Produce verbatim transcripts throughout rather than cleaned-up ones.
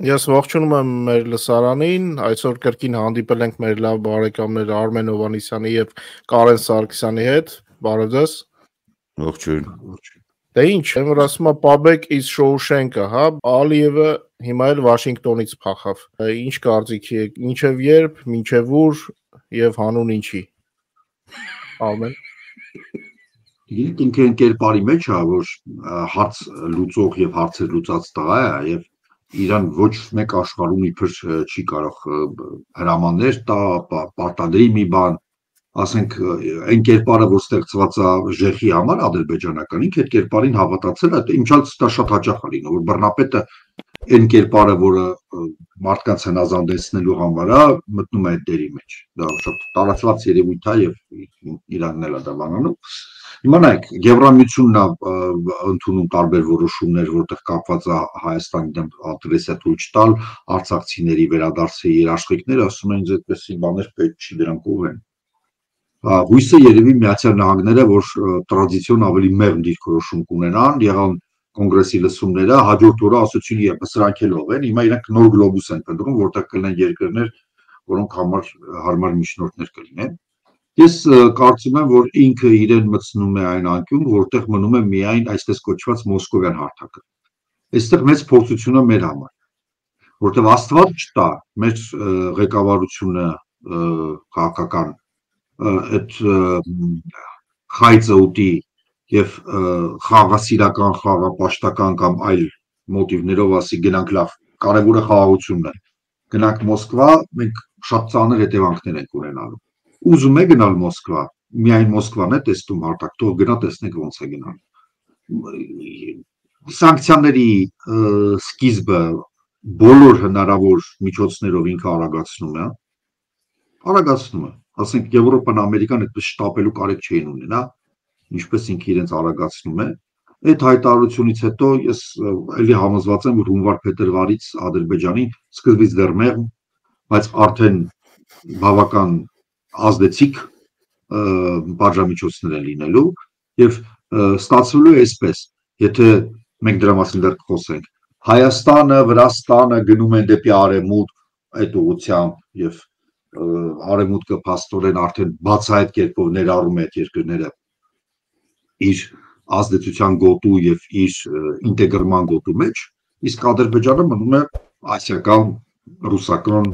Ես ողջունում եմ մեր լսարանին, այսօր կրկին հանդիպել ենք մեր լավ բարեկամներ Արմեն Հովհաննիսյանի եւ Կարեն Սարգսյանի հետ, բարև ձեզ։ Ողջույն։ Դե ինչ, եմ ասում Պաբեկ is Շոուշենկը, հա, Ալիևը հիմա էլ Վաշինգտոնից փախավ։ Ինչ կարծիքի եք, ինչև երբ, ինչև ուր եւ հանուն ինչի։ Արմեն։ Ինքը կերպարի մեջ է, որ հարց լուծող եւ հարցեր լուծած տղա է եւ իրան ոչ մեկ աշխարհում իբր չի կարող հրամաններ տա, պարտադրի մի բան, ասենք այն կերպարը, որ ստեղծված է ժեխի համար ադրբեջանական, ինքը այդ կերպարին հավատացել է, ինչալ դա շատ հաճախ է լինում, որ բռնապետը այն կերպարը, որը մարդկանց հնազանդեցնելու համար է, մտնում է այդ դերի մեջ։ Դա շատ տարածված երևույթ է եւ Իրանն էլ է դա բանանում։ Իմանայք, Եվրամիությունն է ընդունում տարբեր որոշումներ, որտեղ կապված է Հայաստանի դեմ ագրեսիա ցույց տալ, արցախցիների վերադարձի երաշխիքներ, ասում են, այդպես բաներ պետք չի, դրանք ով են։ Հույսը երևի Միացյալ Նահանգները, որ տրադիցիոն ավելի մեղմ դիրքորոշում կունենան, եղան կոնգրեսի լսումները, հաջորդ օրը ասացին եւս սրանք էլ ով են, հիմա իրանք նոր գլոբուս են փնտրում, որտեղ կլինեն երկրներ, որոնք համար հարմար միջնորդներ կլինեն։ Ես կարծում եմ, որ ինքը իրեն մտցնում է այն անկյուն, որտեղ մնում է միայն այսպես կոչված մոսկովյան հարթակը։ Այստեղ մեծ փորձություն է մեր համար, որտեղ Աստված չտա, մեր ղեկավարությունը քաղաքական այդ խայծը ուտի եւ խաղաղասիրական, խաղապաշտական կամ այլ մոտիվներով ասի գնանք լավ, կարևորը խաղաղությունն է։ Գնանք Մոսկվա, մենք շատ ծանր հետևանքներ ենք ունենալու։ Ուզում է գնալ Մոսկվա, միայն Մոսկվան է տեսնում հարթակ, թող գնա տեսնենք ոնց է գնալ։ Սանկցիաների սկիզբը բոլոր հնարավոր միջոցներով ինքը արագացնում է, արագացնում է, ասենք Եվրոպան, Ամերիկան այդպես շտապելու կարիք չէին ունենա, ինչպես ինքը իրենց արագացնում է։ Այդ հայտարարությունից հետո ես էլի համոզված եմ, որ հունվար-փետրվարից Ադրբեջանին սկզբից դեռ մեղմ, բայց արդեն բավական ազդեցիկ բաժամիջոցներ են լինելու եւ ստացվելու է այսպես, եթե մենք դրա մասին դեռ կխոսենք, Հայաստանը, Վրաստանը գնում են դեպի արևմուտք այդ ուղղությամբ եւ արևմուտքը փաստորեն արդեն բացահայտ կերպով ներառում է այդ երկրները իր ազդեցության գոտու եւ իր ինտեգրման գոտու մեջ, իսկ Ադրբեջանը մնում է ասիական, ռուսական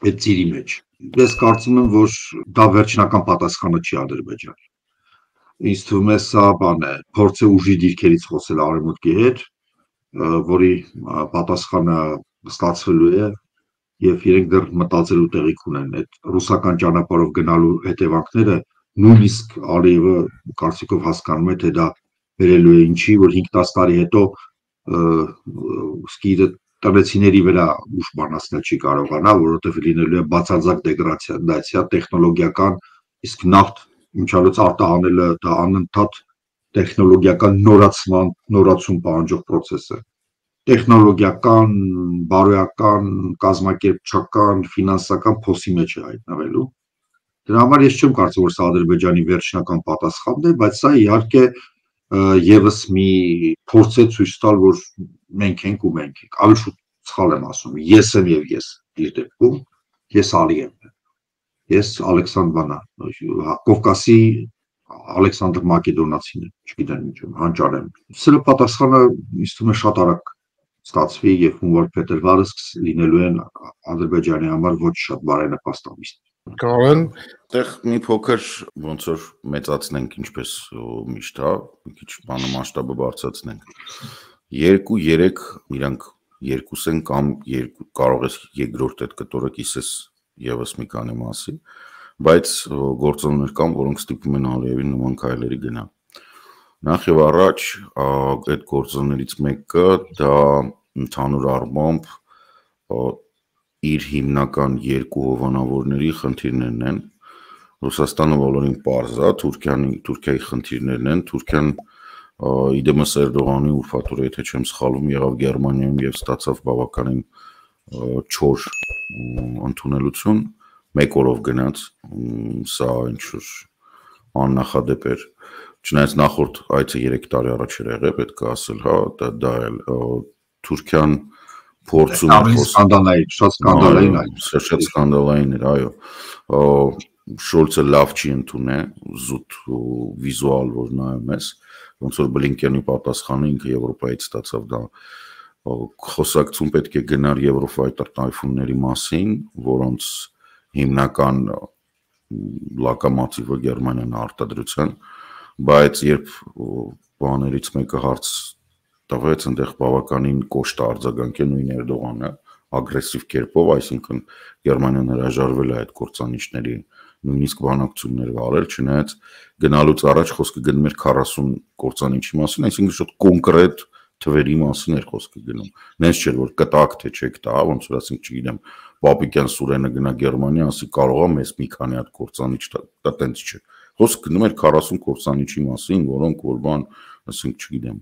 այդ ծիրի մեջ։ Ես կարծում եմ, որ դա վերջնական պատասխանը չի Ադրբեջանի։ Ինձ թվում է սա բան է, փորձ է ուժի դիրքերից խոսել արևմուտքի հետ, որի պատասխանը ստացվելու է եւ իրենք դեռ մտածելու տեղիք ունեն այդ ռուսական ճանապարհով գնալու հետևանքները, նույնիսկ Ալիևը կարծիքով հասկանում է, թե դա վերելու է ինչի, որ հինգ-տասը տարի հետո սկիզբը տնեցիների վրա ուժ բանացնել չի կարողանա, որովհետև լինելու է բացարձակ դեգրադացիա տեխնոլոգիական, իսկ նավթ ինչալուց արտահանելը դա անընդհատ տեխնոլոգիական նորացման, նորացում պահանջող process է։ Տեխնոլոգիական, բարոյական, կազմակերպչական, ֆինանսական փոսի մեջ է հայտնվելու։ Դրա համար ես չեմ կարծում, որ սա Ադրբեջանի վերջնական պատասխանն է, բայց սա իհարկե եւս մի փորձ է ցույց տալ, որ մենք ենք ու մենք ենք։ Ավելի շուտ սխալ եմ ասում, ես եմ եւ ես իր դեպքում, ես Ալի եմ։ Ես Ալեքսանդրվանա, Կովկասի Ալեքսանդր Մակեդոնացին, չգիտեմ ինչ եմ, հանճար եմ։ Սրա պատասխանը ինձ թվում է շատ արագ ստացվի եւ հունվար-փետրվարը լինելու են Ադրբեջանի համար ոչ շատ բարենպաստ ամիսներ։ Կարեն, այդտեղ մի փոքր ոնց որ մեծացնենք ինչպես միշտ, հա, մի քիչ բանը մասշտաբը բարձրացնենք։ երկու-երեք իրանք երկուս են կամ երկու կարող ես երկրորդ այդ կտորը կիսես եւս մի քանի մասի, բայց գործոններ կան, որոնք ստիպում են Ալիևին նման քայլերի գնալ։ Նախ եւ առաջ այդ գործոններից մեկը դա ընդհանուր առմամբ իր հիմնական երկու հովանավորների խնդիրներն են։ Ռուսաստանը բոլորին պարզ է, Թուրքիան Թուրքիայի խնդիրներն են, Թուրքիան իդեմս Էրդողանի ուրֆաթորը, եթե չեմ սխալվում, եղավ Գերմանիայում եւ ստացավ բավականին չոր ընդունելություն, մեկ օրով գնաց, սա ինչ-որ աննախադեպ էր, չնայած նախորդ այցը երեք տարի առաջ էր եղել, պետք է ասել, հա, դա էլ Թուրքիան փորձում էր սկանդալային, շատ սկանդալային այո, շատ սկանդալային էր, այո։ Շոլցը լավ չի ընդունել, զուտ վիզուալ որ նայում ես, ոնց որ Բլինկենի պատասխանը ինքը Եվրոպայից ստացավ դա խոսակցում պետք է գնար Եվրոֆայտեր տայֆունների մասին, որոնց հիմնական լոկոմոտիվը Գերմանիան արտադրության, բայց երբ բաներից մեկը հարց տվեց, այնտեղ բավականին կոշտ արձագանք է նույն Էրդողանը, ագրեսիվ կերպով, այսինքն Գերմանիան հրաժարվել է այդ կործանիչների նույնիսկ բանակցություններ վարել, չնայած գնալուց առաջ խոսքը գնում էր քառասուն կործանիչի մասին, այսինքն շատ կոնկրետ թվերի մասին էր խոսքը գնում։ Նենց չէր որ կտակ թե չեք տա, ոնց որ ասենք, չգիտեմ, Պապիկյան Սուրենը գնա Գերմանիա, ասի կարող է մեզ մի քանի հատ կործանիչ տա, տենց չէ։ Խոսքը գնում էր քառասուն կործանիչի մասին, որոնք որ բան, ասենք, չգիտեմ,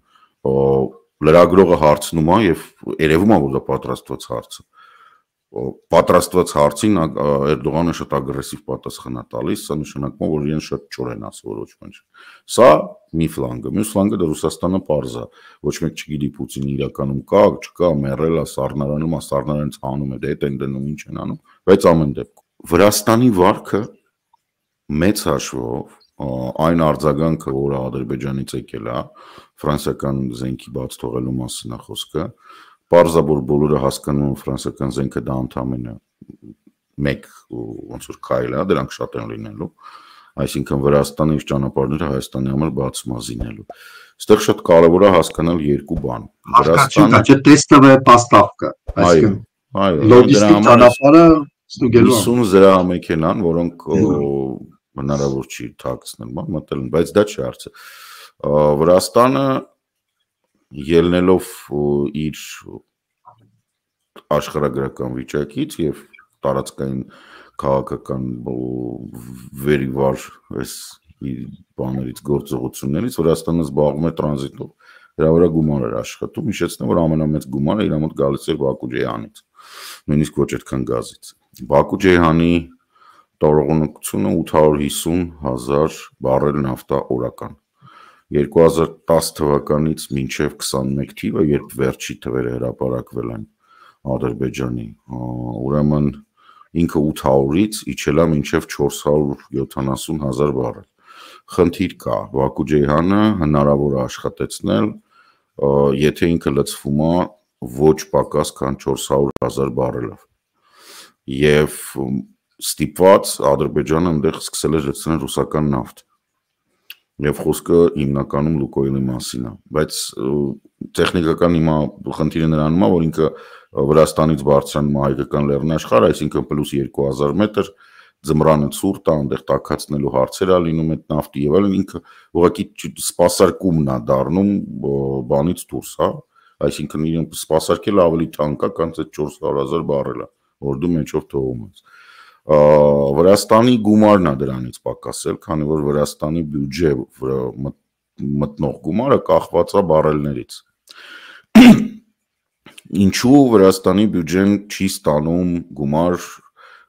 լրագրողը հարցնում է եւ երևում է որ դա պատրաստված հարց է։ Պատրաստված հարցին Էրդողանը շատ ագրեսիվ պատասխան է տալիս, սա նշանակում է որ իրեն շատ չոր են ասել ոչ ոք։ Սա մի ֆլանգը, մյուս ֆլանգը դա Ռուսաստանը պարզ է, ոչ մեկ չգիտի Պուտինը իրականում կա, չկա, մեռել է, սառնարանում է, սառնարանից հանում է, դե այդ են դնում, ինչ են անում, բայց ամեն դեպքում Վրաստանի վարքը մեծ հաշվով այն արձագանքը, որը Ադրբեջանից եկել է, ֆրանսիական զենքի բաց թողելու մասին է խոսքը, պարզաբար բոլորը հասկանում են ֆրանսիական զենքը դա ընդամենը մեկ ոնց որ քայլ է, դրանք շատ են լինելու, այսինքն Վրաստանի ճանապարհները Հայաստանի համար բացում է զինելու։ Այստեղ շատ կարևոր է հասկանալ երկու բան։ Վրաստանը չէ տեստովե պաստավկա, այսինքն լոգիստիկ ճանապարհը ստուգելու հիսուն զրահամեքենան, որոնք հնարավոր չի թաքցնել, բան մտել են, բայց դա չի հարցը։ Վրաստանը ելնելով իր աշխարհագրական վիճակից եւ տարածքային քաղաքական վերիվար այս բաներից գործողություններից Վրաստանը զբաղվում է տրանզիտով, դրա վրա գումար էր աշխատում, հիշեցնեմ որ ամենամեծ գումարը իր մոտ գալիս էր Բաքու Ջեյանից, նույնիսկ ոչ այդքան գազից։ Բաքու Ջեյանի տողողությունը ութ հարյուր հիսուն հազար բարել նավթա օրական։ երկու հազար տասը թվականից մինչև քսանմեկ թիվը, երբ վերջի թվերը հրապարակվել են Ադրբեջանի, ուրեմն ինքը ութ հարյուրից իջել է մինչև չորս հարյուր յոթանասուն հազար բարել։ Խնդիր կա, Բաքու Ջեյհանը հնարավոր է աշխատեցնել, եթե ինքը լցվում է ոչ պակաս քան չորս հարյուր հազար բարելով։ Եվ ստիպված Ադրբեջանը այնտեղ սկսել է լցնել ռուսական նավթ։ Եվ խոսքը հիմնականում Լուկոյլի մասին է, բայց տեխնիկական հիմա խնդիրը նրանում է, որ ինքը Վրաստանից բարձրանում է հայկական լեռնաշխարհ, այսինքն պլյուս երկու հազար մետր, ձմռանը ցուրտ է, այնտեղ տաքացնելու հարցեր է լինում այդ նավթի եւ այլն, ինքը ուղղակի սպասարկումն է դառնում բանից դուրս, հա, այսինքն իրեն սպասարկելը ավելի թանկ է, քան այդ չորս հարյուր հազար բարելը, որ դու մեջով թողում ես։ Վրաստանի գումարն է դրանից պակասել, քանի որ Վրաստանի բյուջե մտնող գումարը կախված է բարելներից։ Ինչու Վրաստանի բյուջեն չի ստանում գումար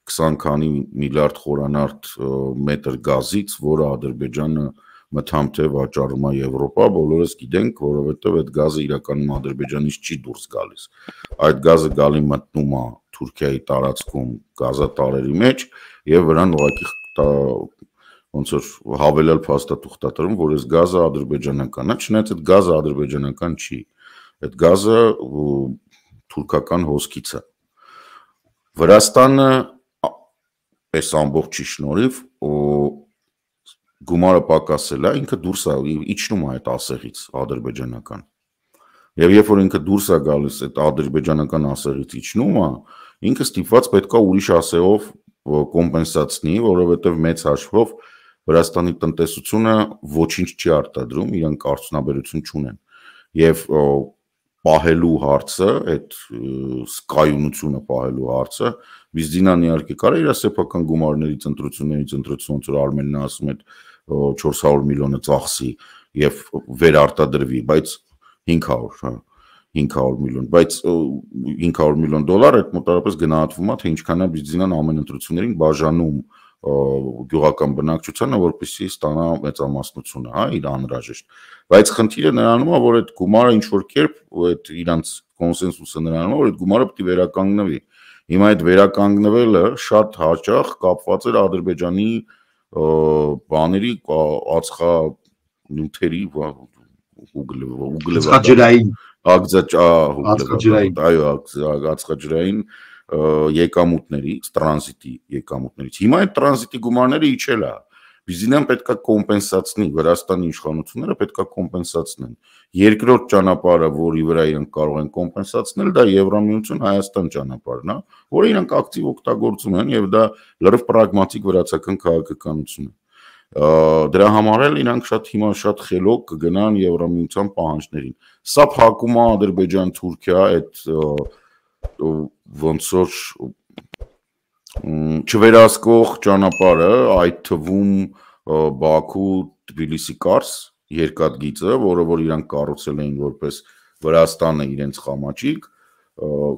քսան քանի միլիարդ խորանարդ մետր գազից, որը Ադրբեջանը մթամթ է վաճառում է Եվրոպա, բոլորս գիտենք, որովհետև այդ գազը իրականում Ադրբեջանից չի դուրս գալիս։ Այդ գազը գալի մտնում է Թուրքիայի տարածքում գազատարերի մեջ եւ վրան ուղղակի ոնց որ հավելյալ փաստաթուղթ տրում, որ այս գազը ադրբեջանական է, չնայած այդ գազը ադրբեջանական չի։ Այդ գազը թուրքական հոսքից է։ Վրաստանը այս ամբողջի շնորհիվ գումարը պակասել է, ինքը դուրս է իջնում է այդ ասեղից ադրբեջանական։ Եվ երբ որ ինքը դուրս է գալիս այդ ադրբեջանական ասեղից իջնում է, ինքը ստիպված պետք է ուրիշ ասեղով կոմպենսացնի, որովհետև մեծ հաշվով Վրաստանի տնտեսությունը ոչինչ չի արտադրում, իրանք արդյունաբերություն չունեն։ Եվ պահելու հարցը, այդ սկայունությունը պահելու հարցը, Վիզդինան իհարկե կարա իր սեփական գումարներից ընտրություններից ընտրություն, ոնց որ Արմենն ասում է չորս հարյուր միլիոնը ծախսի եւ վերարտադրվի, բայց հինգ հարյուր, հա, հինգ հարյուր միլիոն, բայց հինգ հարյուր միլիոն դոլար այդ մոտավորապես գնահատվում է, թե ինչքան է Վիզդինան ամեն ընտրություններին բաժանում գյուղական բնակչությանը, որպեսզի ստանա մեծամասնությունը, հա, իր անհրաժեշտ։ Բայց խնդիրը նրանում է, որ այդ գումարը ինչ որ կերպ այդ իրանց կոնսենսուսը նրանով, որ այդ գումարը պետք է վերականգնվի։ Հիմա այդ վերականգնվելը շատ հաճախ կապված էր Ադրբեջանի բաների ածխա նյութերի ածխաջրային ածխաջրային այո ածխաջրային եկամուտների տրանզիտի եկամուտներից հիմա այդ տրանզիտի գումարները իջել է Բիզինան պետքա կոմպենսացնի Վրաստանի իշխանությունները պետքա կոմպենսացնեն երկրորդ ճանապարհը որի վրա իրենք կարող են կոմպենսացնել դա Եվրամիություն Հայաստան ճանապարհն է որը իրենք ակտիվ օգտագործում են եւ դա լրիվ պրագմատիկ վրացական քաղաքականություն է Դրա համար էլ իրանք շատ հիմա շատ խելոք կգնան Եվրամիության պահանջներին։ Սա փակում է Ադրբեջան-Թուրքիա այդ ոնց որ չվերահսկող ճանապարհը, այդ թվում Բաքու-Թբիլիսի Կարս երկաթգիծը, որը որ իրանք կառուցել էին որպես Վրաստանը իրենց խամաճիկ,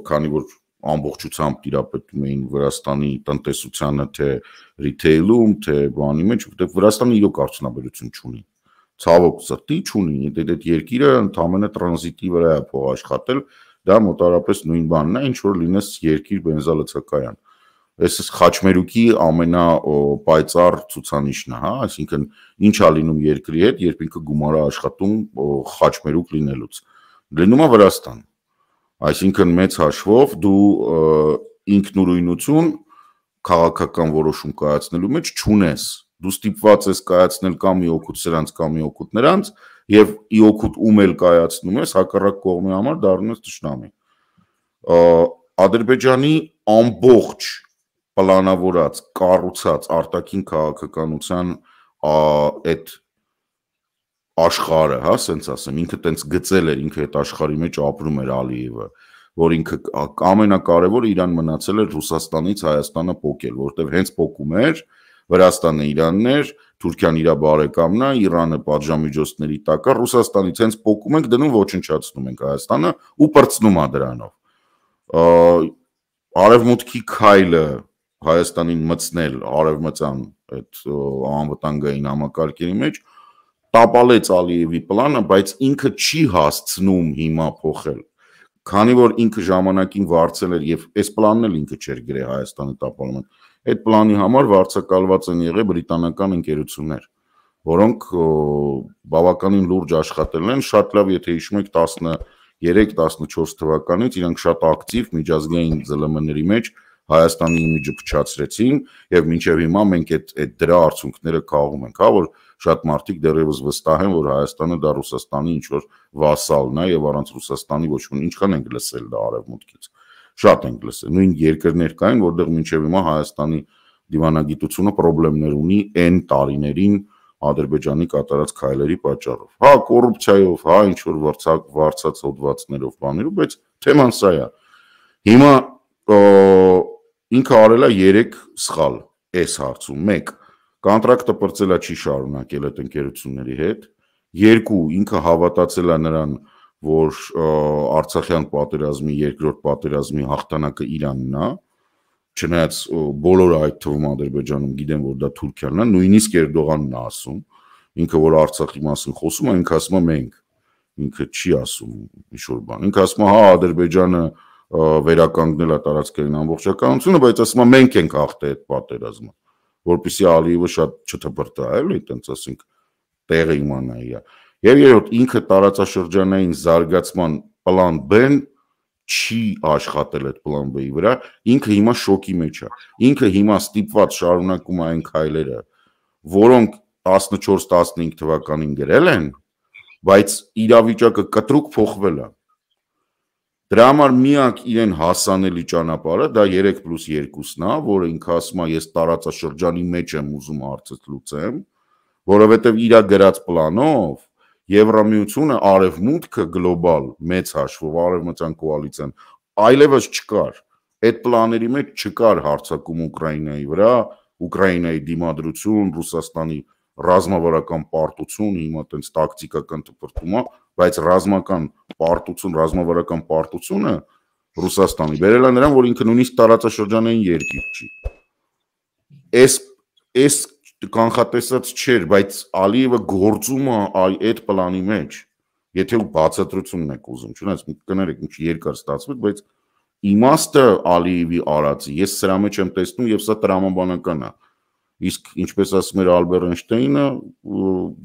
քանի որ ամբողջությամբ տիրապետում էին Վրաստանի տնտեսությանը թե ռիթեյլում, թե բանի մեջ, որտեղ Վրաստանը իրոք արդյունաբերություն չունի։ Ցավոք սրտի չունի, այդ երկիրը ընդամենը տրանզիտի վրա է փող աշխատել, դա մոտարապես նույն բանն է, ինչ որ լինես երկիր բենզալցակայան։ Այս խաչմերուկի ամենապայծառ ցուցանիշն է, հա, այսինքն ինչ է լինում երկրի հետ, երբ ինքը գումար է աշխատում խաչմերուկ լինելուց։ Լինում է Վրաստան։ Այսինքն մեծ հաշվով դու ինքնուրույնություն քաղաքական որոշում կայացնելու մեջ չունես։ Դու ստիպված ես կայացնել կամ մի օգուտ սրանց կամ մի օգուտ նրանց եւ ի օգուտ ում էլ կայացնում ես հակառակ կողմի համար դառնում ես ճշնամի։ Ադրբեջանի ամբողջ պլանավորած, կառուցած արտաքին քաղաքականության այդ աշխարհը, հա, ասենց ասեմ, ինքը տենց գծել էր, ինքը այդ աշխարհի մեջ ապրում էր Ալիևը, որ ինքը ամենակարևորը իրան մնացել էր Ռուսաստանից Հայաստանը փոկել, որտեղ հենց փոկում էր Վրաստանը Իրանն էր, Թուրքիան իր բարեկամն է, Իրանը պատժամիջոցների տակ է, Ռուսաստանից հենց փոկում ենք դնում ոչնչացնում ենք Հայաստանը ու պրծնում է դրանով։ Արևմուտքի քայլը Հայաստանին մտցնել արևմտյան այդ անվտանգային համակարգերի մեջ տապալեց Ալիևի պլանը, բայց ինքը չի հասցնում հիմա փոխել։ Քանի որ ինքը ժամանակին վարձել էր եւ այս պլանն էլ ինքը չէր գրել Հայաստանի տապալման։ Այդ պլանի համար վարձակալված են եղել բրիտանական ընկերություններ, որոնք բավականին լուրջ աշխատել են, շատ լավ, եթե հիշում եք տասներեք տասնչորս թվականից իրանք շատ ակտիվ միջազգային ԶԼՄ-ների մեջ Հայաստանի իմիջը փչացրեցին եւ մինչեւ հիմա մենք այդ այդ դրա արդյունքները քաղում ենք, հա, որ շատ մարդիկ դեռևս վստահ են, որ Հայաստանը դա Ռուսաստանի ինչ որ վասալն է եւ առանց Ռուսաստանի ոչ ոք ինչքան ենք լսել դա արևմուտքից։ Շատ ենք լսել։ Նույն երկրներ կային, որտեղ մինչեւ հիմա Հայաստանի դիվանագիտությունը խնդիրներ ունի N տարիներին Ադրբեջանի կատարած քայլերի պատճառով։ Հա, կոռուպցիայով, հա, ինչ որ վարձակ վարձած հոդվածներով բաներով, բայց թեման սա է։ Հիմա ինքը արել է երեք սխալ այս հարցում։ մեկ Կոնտրակտը պրծել է չի շարունակել այդ ընկերությունների հետ։ Երկու ինքը հավատացել է նրան, որ Արցախյան պատերազմի երկրորդ պատերազմի հաղթանակը Իրանն է, չնայած բոլորը այդ թվում Ադրբեջանում գիտեն, որ դա Թուրքիան է, նույնիսկ Էրդողանն է ասում, ինքը որ Արցախի մասին խոսում է, ինքը ասում է մենք, ինքը չի ասում ինչ-որ բան։ Ինքը ասում է, հա, Ադրբեջանը վերականգնել է տարածքային ամբողջականությունը, բայց ասում է մենք ենք հաղթել այդ պատերազմը, որպեսզի Ալիևը շատ չթփրտա, էլի, այտենց ասենք, տեղը իմանայի։ Եվ երրորդ ինքը տարածաշրջանային զարգացման պլան B-ն չի աշխատել այդ պլան B-ի վրա, ինքը հիմա շոկի մեջ է։ Ինքը հիմա ստիպված շարունակում է այն քայլերը, որոնք տասնչորս տասնհինգ թվականին գրել են, բայց իրավիճակը կտրուկ փոխվել է։ Դրա համար միակ իրեն հասանելի ճանապարհը դա երեք պլյուս երկուսն է, որը ինքը ասում է ես տարածաշրջանի մեջ եմ ուզում հարցը լուծեմ, որովհետև իր գրած պլանով Եվրամիությունը արևմուտքը գլոբալ մեծ հաշվով արևմտյան կոալիցիան այլևս չկար։ Այդ պլաների մեջ չկար հարձակում Ուկրաինայի վրա, Ուկրաինայի դիմադրություն, Ռուսաստանի ռազմավարական պարտություն, հիմա տենց տակտիկական դպրտում է, բայց ռազմական պարտություն, ռազմավարական պարտությունը Ռուսաստանի բերել է նրան, որ ինքը նույնիսկ տարածաշրջանային երկիր չի։ Այս այս կանխատեսած չէր, բայց Ալիևը գործում է այդ պլանի մեջ։ եթե ու բացատրությունն եք ուզում, չունես կներեք ինչ երկար ստացվեց, բայց իմաստը Ալիևի արածի, ես սրա մեջ եմ տեսնում եւ սա տրամաբանական է։ Իսկ ինչպես ասում էր Ալբերտ Էյնշտեյնը,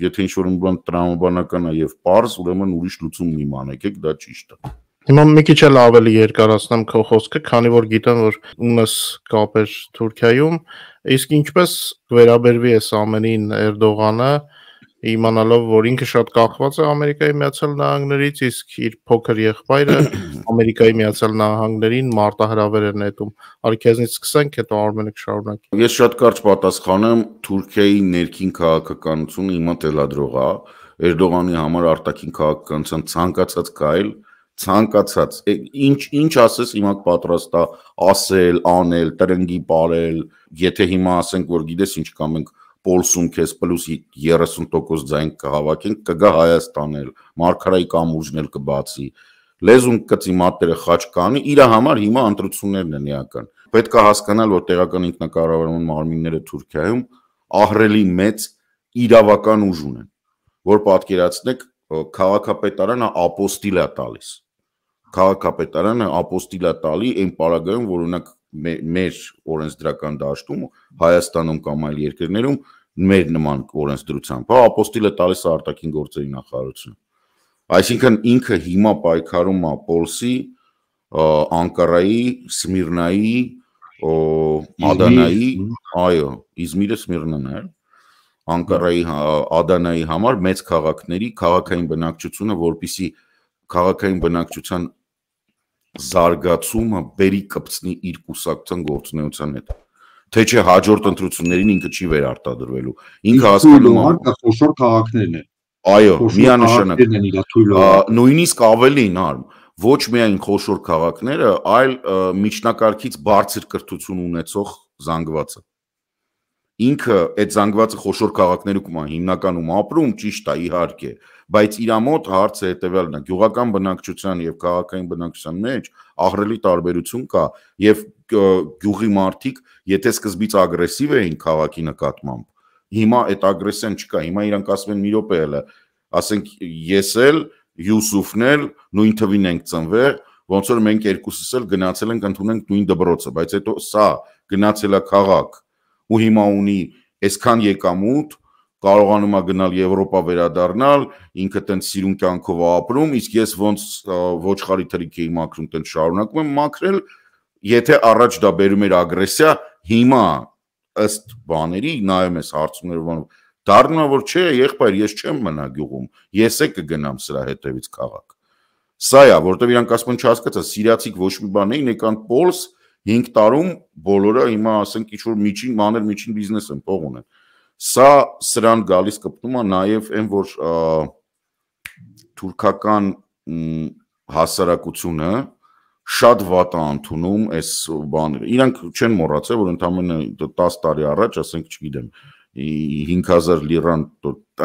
եթե ինչ-որ մի բան տրամաբանական է եւ պարզ, ուրեմն ուրիշ լուծում մի մանեկեք, դա ճիշտ է։ Հիմա մի քիչ էլ ավելի երկարացնեմ քո խոսքը, քանի որ գիտեմ, որ ունես կապեր Թուրքիայում, իսկ ինչպես վերաբերվի այս ամենին Էրդողանը, իմանալով, որ ինքը շատ կախված է Ամերիկայի Միացյալ Նահանգներից, իսկ իր փոքր եղբայրը Ամերիկայի Միացյալ Նահանգներին մարտահրավեր է նետում։ Արի քեզնից սկսենք, հետո Արմենը կշարունակի։ Ես շատ կարճ պատասխանեմ, Թուրքիայի ներքին քաղաքականությունը հիմա թելադրող է, Էրդողանի համար արտաքին քաղաքականության ցանկացած կայլ, ցանկացած ինչ ինչ ասես հիմա պատրաստ է ասել, անել, տրնգի ապրել, եթե հիմա ասենք, որ գիտես ինչ կամ ենք Պոլսում քեզ պլյուս երեսուն տոկոս ձայն կհավաքենք, կգա Հայաստան էլ, Մարգարայի կամուրջն էլ կբացի, լեզուն կծի մատները խաչ կանի, իր համար հիմա ընտրություններն են էական։ Պետք է հասկանալ, որ տեղական ինքնակառավարման մարմինները Թուրքիայում ահռելի մեծ իրավական ուժ ունեն, որ պատկերացնեք, քաղաքապետարանը ապոստիլ է տալիս։ Քաղաքապետարանը ապոստիլ է տալի այն պարագայում, որ օրինակ մեր օրենսդրական դաշտում, Հայաստանում կամ այլ երկրներում մեր նման օրենսդրությամբ, հա ապոստիլ է տալիս արտաքին գործերի նախարարությունը։ Այսինքն ինքը հիմա պայքարում է Պոլսի, Անկարայի, Սմիրնայի, Ադանայի, այո, Իզմիրը Սմիրնան է, Անկարայի, Ադանայի համար մեծ քաղաքների քաղաքային բնակչությունը, որպեսզի քաղաքային բնակչության զարգացումը բերի կպցնի իր կուսակցության գործունեության հետ։ Թե չէ հաջորդ ընտրություններին ինքը չի վերարտադրվելու։ Ինքը հասկանում է խոշոր քաղաքներն են։ Այո, միանշանակ։ Նույնիսկ ավելին արմ, ոչ միայն խոշոր քաղաքները, այլ միջնակարգից բարձր կրթություն ունեցող զանգվածը։ Ինքը այդ զանգվածը խոշոր քաղաքներում է հիմնականում ապրում, ճիշտ է, իհարկե, բայց իր մոտ հարցը հետևյալն է, գյուղական բնակչության եւ քաղաքային բնակչության մեջ ահռելի տարբերություն կա եւ գյուղի մարդիկ, եթե սկզբից ագրեսիվ էին քաղաքի նկատմամբ, հիմա այդ ագրեսիան չկա, հիմա իրանք ասում են մի րոպե էլ, ասենք ես էլ, Յուսուֆն էլ նույն թվին ենք ծնվել, ոնց որ մենք երկուսս էլ գնացել ենք ընդունենք նույն դպրոցը, բայց հետո սա գնացել է քաղաք ու հիմա ունի այսքան եկամուտ, կարողանում է գնալ Եվրոպա վերադառնալ, ինքը տենց սիրուն կյանքով ապրում, իսկ ես ոնց ոչխարի թրիք էի մաքրում, տենց շարունակում եմ մաքրել, եթե առաջ դա բերում էր ագրեսիա, հիմա ըստ բաների նայում ես հարցումները, դառնում է որ չէ, եղբայր, ես չեմ մնա գյուղում, ես է կգնամ սրա հետևից քաղաք։ Սա է, որտեղ իրանք ասում են չհասկացա, սիրիացիք ոչ մի բան էին, եկան Պոլս հինգ տարում բոլորը հիմա ասենք ինչ որ միջին, մանր միջին բիզնես են, փող ունեն։ Սա սրան գալիս կպտում է նաև այն, որ թուրքական հասարակությունը շատ վատ է ընդունում այս բաները։ Իրանք չեն մոռացել, որ ընդամենը տասը տարի առաջ, ասենք, չգիտեմ, հինգ հազար լիրան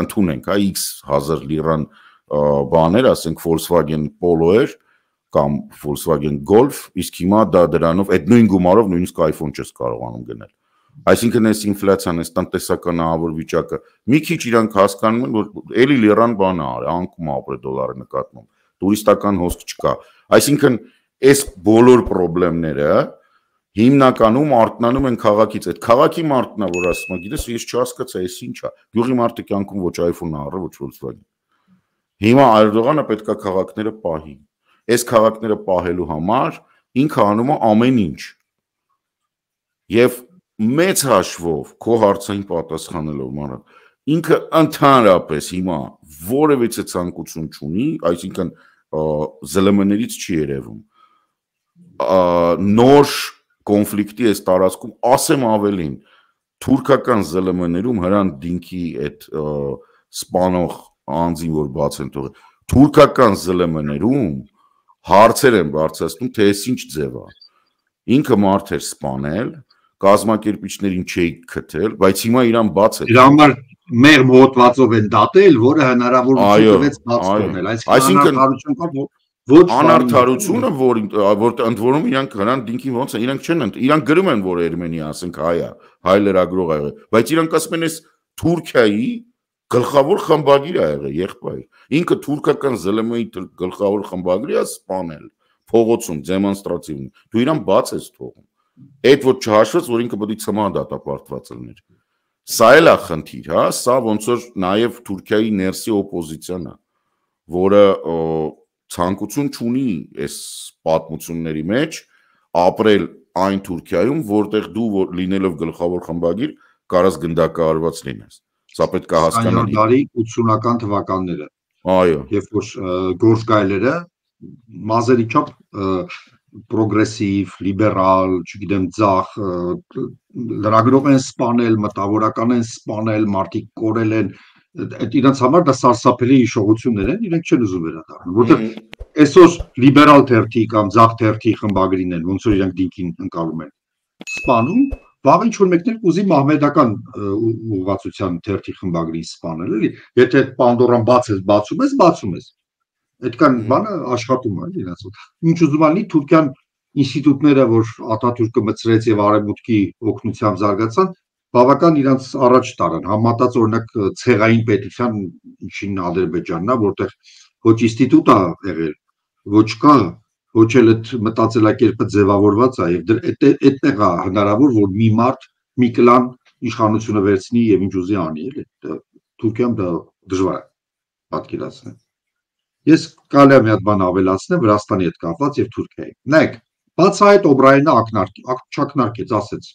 ընդունենք, հա, X հազար լիրան բաներ, ասենք Volkswagen Polo էր կամ Volkswagen Golf, իսկ հիմա դա դրանով այդ նույն գումարով նույնիսկ iPhone չես կարողանում գնել։ Այսինքն այս ինֆլյացիան, այս տնտեսական ահավոր վիճակը մի քիչ իրանք հասկանում են, որ էլի լիրան բան է արել, անկում ապրել դոլարի նկատմամբ, տուրիստական հոսք չկա։ Այսինքն այս բոլոր խնդիրները հիմնականում արտնանում են քաղաքից։ Այդ քաղաքի մարդն է, որ ասում է, գիտես, ես չհասկացա, այս ինչ է։ Գյուղի մարդը կյանքում ոչ iPhone-ը առա, ոչ Volkswagen։ Հիմա Էրդողանը պետք է քաղաքները պահի։ Այս քաղաքները պահելու համար ինքը անում է ամեն ինչ։ Եվ մեծ հաշվով քո հարցին պատասխանելով մանր, ինքը ընդհանրապես հիմա որևիցե ցանկություն չունի, այսինքն ԶԼՄ-ներից չի երևում։ Նոր կոնֆլիկտի այս տարածքում ասեմ ավելին, թուրքական ԶԼՄ-ներում հրան դինքի այդ սպանող անձին, որ բաց են թողել, թուրքական ԶԼՄ-ներում հարցեր են բարձրացնում, թե այս ինչ ձև է։ Ինքը մարդ էր սպանել, կազմակերպիչներին չէի քթել, բայց հիմա իրան բաց է։ Դրա համար մեր մոտվածով են դատել, որը հնարավորություն տվեց բաց թողնել։ Այսինքն անարդարություն կա, ոչ անարդարությունը, որ որ ընդ որում իրանք հրան դինքին ոնց են, իրանք չեն, իրանք գրում են, որ Էրմենիա, ասենք հայ է, հայ լրագրող է, բայց իրանք ասում են, այս Թուրքիայի Գլխավոր խմբագիր ա եղել եղբայր։ Ինքը թուրքական զել եմ էի գլխավոր խմբագրի ա սպանել փողոցում դեմոնստրատիվ։ Դու իրան բաց ես թողում։ Այդ որ չհաշվեց, որ ինքը պետք է ցմահ դատապարտված լիներ։ Սա էլ է խնդիր, հա, սա ոնց որ նաև Թուրքիայի ներսի օպոզիցիան է, որը ցանկություն չունի այս պատմությունների մեջ ապրել այն Թուրքիայում, որտեղ դու լինելով գլխավոր խմբագիր կարաս գնդակահարված լինես։ Սա պետք է հասկանալ։ Դարի ութսունական թվականները։ Այո։ Երբ որ գործգայլերը մազերի չափ պրոգրեսիվ, լիբերալ, չգիտեմ, ձախ, լրագրող են սպանել, մտավորական են սպանել, մարդիկ կորել են, այդ իրենց համար դա սարսափելի հիշողություններ են, իրենք չեն ուզում վերադառնալ, որտեղ այսօր լիբերալ թերթի կամ ձախ թերթի խմբագրին են, ոնց որ իրենք դինքին ընկալում են, սպանում, վաղ ինչ-որ մեկներ կուզի մահմեդական ուղղվածության թերթի խմբագրին սպանել, էլի, եթե Պանդորան բաց ես, բացում ես, բացում ես։ Այդքան բանը աշխատում է իրենց։ Ինչ ուզում ալի Թուրքիան ինստիտուտները, որ Աթաթուրքը մցրեց եւ արևմուտքի օգնությամբ զարգացան, բավական իրենց առաջ տարան, համատած օրինակ ցեղային պետության ինչին Ադրբեջանն է, որտեղ ոչ ինստիտուտ է եղել, ոչ կա, ոչ էլ այդ մտածելակերպը ձևավորված է եւ այդտեղ է հնարավոր, որ մի մարդ մի կլան իշխանությունը վերցնի եւ ինչ ուզի անի, էլի։ Թուրքիայում դա դժվար է պատկերացնել։ Ես կարելի է մի հատ բան ավելացնեմ Վրաստանի հետ կապված եւ Թուրքիայի։ Նայեք, բացահայտ Օբրայենը ակնարկեց, ասեց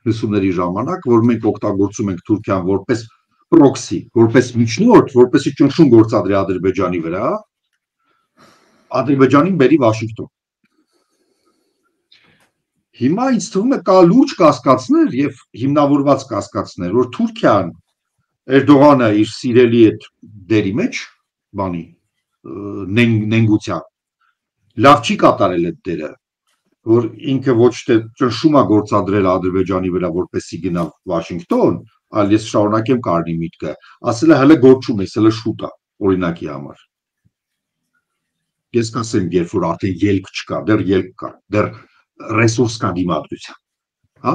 լսումների ժամանակ, որ մենք օգտագործում ենք Թուրքիան որպես պրոքսի, որպես միջնորդ, որպեսզի ճնշում գործադրի Ադրբեջանի վրա, Ադրբեջանին բերի Վաշինգտոն։ Հիմա ինձ թվում է կա լուրջ կասկածներ եւ հիմնավորված կասկածներ, որ Թուրքիան Էրդողանը իր սիրելի այդ դերի մեջ բանի նենգության լավ չի կատարել այդ դերը, որ ինքը ոչ թե ճնշում է գործադրել Ադրբեջանի վրա, որպեսզի գնա Վաշինգտոն, այլ ես շարունակեմ կարնի միտքը, ասել է հələ գործում ես, հələ շուտ է, օրինակի համար։ Ես կասեմ, երբ որ արդեն ելք չկա, դեռ ելք կա, դեռ ռեսուրս կա դիմադրության, հա։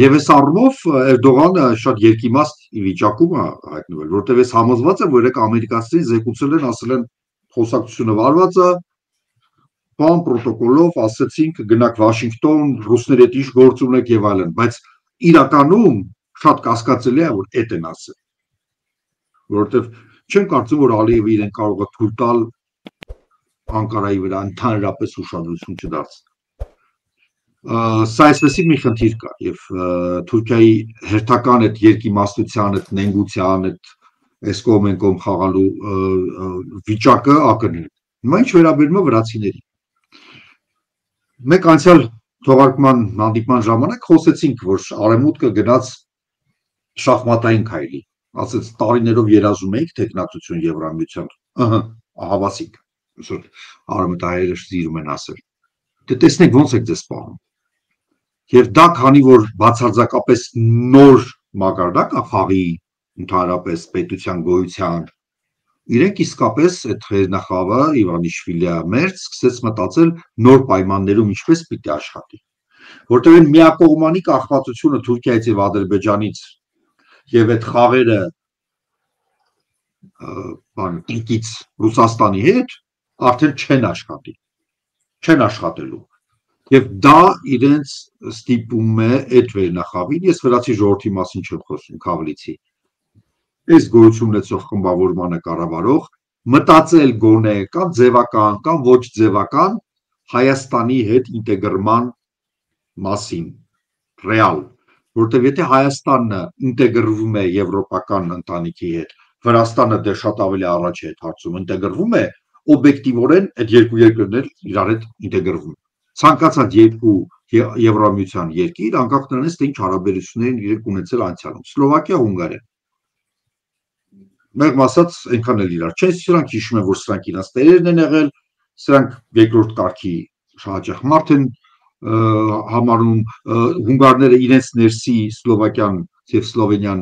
Եվ այս առումով Էրդողանը շատ երկիմաստ վիճակում է հայտնվել, որտեղ ես համոզված եմ, որ երեք ամերիկացիներին զեկուցել են, ասել են խոսակցությունը վարված է, բան պրոտոկոլով ասեցինք գնաք Վաշինգտոն, ռուսների հետ ինչ գործ ունեք եւ այլն, բայց իրականում շատ կասկածելի է, որ այդ են ասել, որովհետեւ չեմ կարծում, որ Ալիևը իրեն կարող է թույլ տալ Անկարայի վրա ընդհանրապես ուշադրություն չդարձնել։ Սա այսպեսի մի խնդիր կա եւ Թուրքիայի հերթական այդ երկիմաստության, այդ նենգության, այդ այս կողմ են կողմ խաղալու վիճակը ակնհայտ։ Հիմա ինչ վերաբերում է վրացիներին։ Մեկ անցյալ թողարկման հանդիպման ժամանակ խոսեցինք, որ արևմուտքը գնաց շախմատային քայլի, ասեց տարիներով երազում էինք տեխնատություն Եվրամիության, ըհը, հավասիկ, այսօր արևմտահայերը սիրում են ասել։ Դե տեսնենք ոնց եք ձեզ պահում։ Եվ դա քանի որ բացարձակապես նոր մակարդակ է խաղի ընդհանրապես պետության գոյության, իրենք իսկապես այդ խերնախավը Իվանիշվիլիա մերձ սկսեց մտածել նոր պայմաններում ինչպես պիտի աշխատի, որտեղ այն միակողմանի կախվածությունը Թուրքիայից եւ Ադրբեջանից եւ այդ խաղերը բան ինքից Ռուսաստանի հետ արդեն չեն աշխատի, չեն աշխատելու։ Եվ դա իրենց ստիպում է այդ վերնախավին, ես վրացի ժողովրդի մասին չեմ խոսում, Քավլիցի, այս գոյություն ունեցող խմբավորմանը կառավարող մտածել գոնե կամ ձևական կամ ոչ ձևական Հայաստանի հետ ինտեգրման մասին, ռեալ, որտեղ եթե Հայաստանը ինտեգրվում է եվրոպական ընտանիքի հետ, Վրաստանը դեռ շատ ավելի առաջ է այդ հարցում ինտեգրվում է, օբյեկտիվորեն այդ երկու երկրներ իրար հետ ինտեգրվում են։ Ցանկացած երկու Եվրամիության երկիր, անկախ նրանից թե ինչ հարաբերություններ իրենք ունեցել անցյալում, Սլովակիա, Հունգարիա։ Մեղմ ասած, այնքան էլ իրար չեն, սրանք հիշում են, որ սրանք իրենց տերերն են եղել, սրանք երկրորդ կարգի հաճախ մարդ են համարում, հունգարները իրենց ներսի Սլովակիան եւ Սլովենիան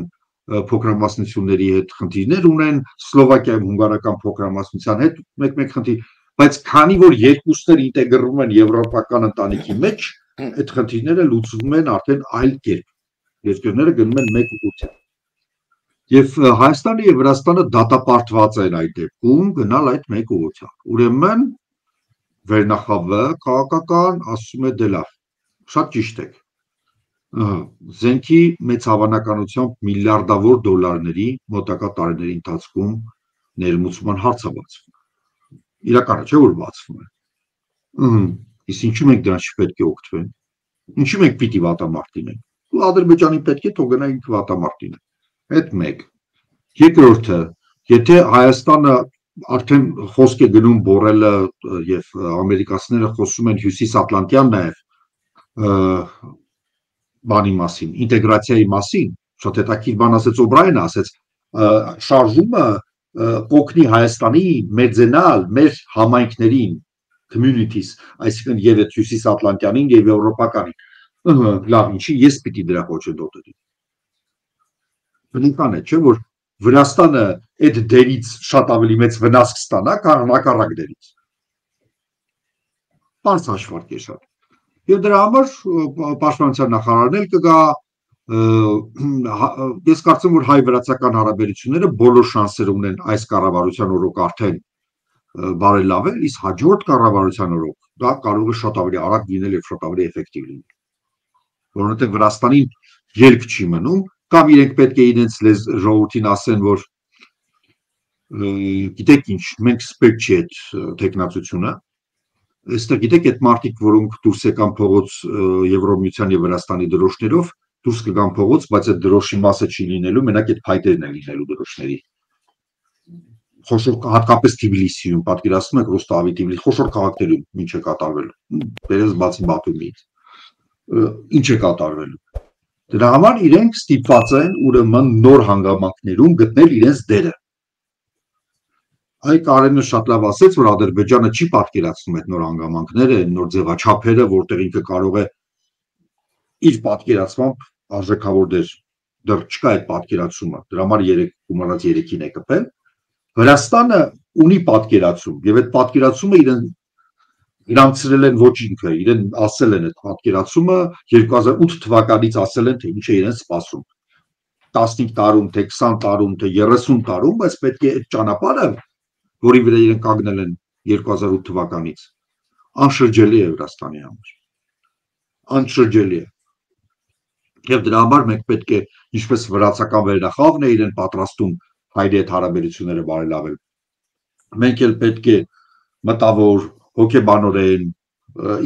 փոքրամասնությունների հետ խնդիրներ ունեն, Սլովակիայում հունգարական փոքրամասնության հետ մեկ-մեկ խնդիր, բայց քանի որ երկուսներ ինտեգրվում են եվրոպական ընտանիքի մեջ, այդ խնդիրները լուծվում են արդեն այլ կերպ։ Երկրները գնում են մեկ ուղղությամբ։ Եվ Հայաստանը եւ Վրաստանը դատապարտված են այդ դեպքում գնալ այդ մեկ ուղղությամբ։ Ուրեմն վերնախավը քաղաքական ասում է դե լավ, շատ ճիշտ եք։ Զենքի մեծ հավանականությամբ միլիարդավոր դոլարների մոտակա տարիների ընթացքում ներմուծման հարց է բացվում։ Իրականը չէ որ բացվում է։ Իսկ ինչու մենք դրանից պետք է օգտվենք։ Ինչու մենք պիտի վատամարտինենք։ Ու Ադրբեջանի պետք է թող գնա ինքը վատամարտին։ Այդ մեկ։ Երկրորդը, եթե Հայաստանը արդեն խոսք է գնում բորելը եւ ամերիկացիները խոսում են հյուսիսատլանտյան նաեւ բանի մասին, ինտեգրացիայի մասին, շատ հետաքրքիր բան ասեց Օբրայենը, ասեց շարժումը կօգնի Հայաստանի մեծենալ մեր համայնքներին, communities, այսինքն եւ հյուսիսատլանտյանին եւ եվրոպականին։ Լավ, ինչի ես պիտի դրա խոչընդոտի։ Բնական է, չէ՞ որ Վրաստանը այդ դերից շատ ավելի մեծ վնաս կստանա, քան հակառակ դերից։ Բարձ հաշվարկ է շատ։ Եվ դրա համար պաշտպանության նախարարն էլ կգա, ես կարծում որ հայ-վրացական հարաբերությունները բոլոր շանսեր ունեն այս կառավարության օրոք արդեն բարելավել, իսկ հաջորդ կառավարության օրոք դա կարող է շատ ավելի արագ լինել եւ շատ ավելի էֆեկտիվ լինել։ Որովհետեւ Վրաստանին ելք չի մնում, կամ իրենք պետք է իրենց ժողովրդին ասեն, որ գիտեք ինչ, մենք սպեք չի այդ տեխնացությունը, այստեղ գիտեք այդ մարդիկ, որոնք դուրս եկան փողոց Եվրոմիության եւ Վրաստանի դրոշներով, դուրս կգան փողոց, բայց այդ դրոշի մասը չի լինելու, մենակ այդ փայտերն են լինելու դրոշների։ Խոշոր հատկապես Թբիլիսիում, պատկերացնում եք Ռոստավի Թբիլիսի, խոշոր քաղաքներում ինչ է կատարվելու։ Դերս բացի Բաթումից։ Ինչ է կատարվելու։ Դրա համար իրենք ստիպված են ուրեմն նոր հանգամանքներում գտնել իրենց դերը։ Այ Կարենը շատ լավ ասեց, որ Ադրբեջանը չի պատկերացնում այդ նոր հանգամանքները, նոր ձևաչափերը, որտեղ ինքը կարող է իր պատկերացմամբ արժեքավոր դեր դեռ չկա այդ պատկերացումը։ Դրա համար երեք գումարած երեքին է կպել։ Վրաստանը ունի պատկերացում, եւ այդ պատկերացումը իրեն իրանցրել են ոչ ինքը, իրեն ասել են այդ պատկերացումը երկու հազար ութ թվականից ասել են, թե ինչ է իրեն սպասում։ տասնհինգ տարում, թե քսան տարում, թե երեսուն տարում, բայց պետք է այդ ճանապարհը, որի վրա իրենք կանգնել են երկու հազար ութ թվականից, անշրջելի է Վրաստանի համար։ Անշրջելի է։ Եվ դրա համար մենք պետք է, ինչպես վրացական վերնախավն է իրեն պատրաստում հայերի հետ հարաբերությունները բարելավել, մենք էլ պետք է մտավոր հոգեբանորեն,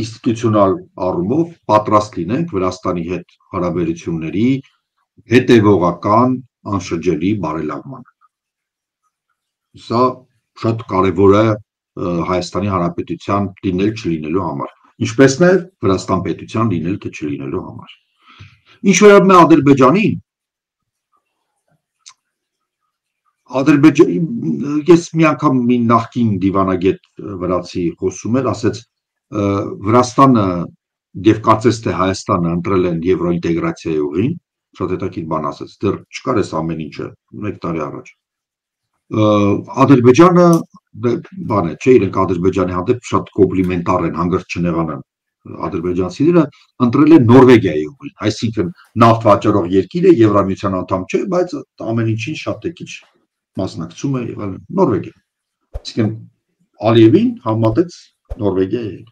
ինստիտուցիոնալ առումով պատրաստ լինենք Վրաստանի հետ հարաբերությունների հետևողական անշրջելի բարելավման։ Սա շատ կարևոր է Հայաստանի Հանրապետության լինել չլինելու համար, ինչպես նաև Վրաստան պետության լինել թե չլինելու համար։ Ինչ վերաբերում է Ադրբեջանին, Ադրբեջանի, ես մի անգամ մի նախկին դիվանագետ վրացի խոսում էր, ասեց Վրաստանը եւ կարծես թե Հայաստանը ընտրել են եվրոինտեգրացիայի ուղին, շատ հետաքրքիր բան ասեց, դեռ չկար էս ամեն ինչը մեկ տարի առաջ։ Ադրբեջանը բան է, չէ, իրենք Ադրբեջանի հանդեպ շատ կոմպլիմենտար են, հանգրտ չնեղանան ադրբեջանցիները, ընտրել են Նորվեգիայի ուղին, այսինքն նավթ վաճառող երկիր է, Եվրամիության անդամ չէ, բայց ամեն ինչին շատ է քիչ մասնակցում է եղել Նորվեգիա։ Այսինքն Ալիևին համատեց Նորվեգիայի հետ։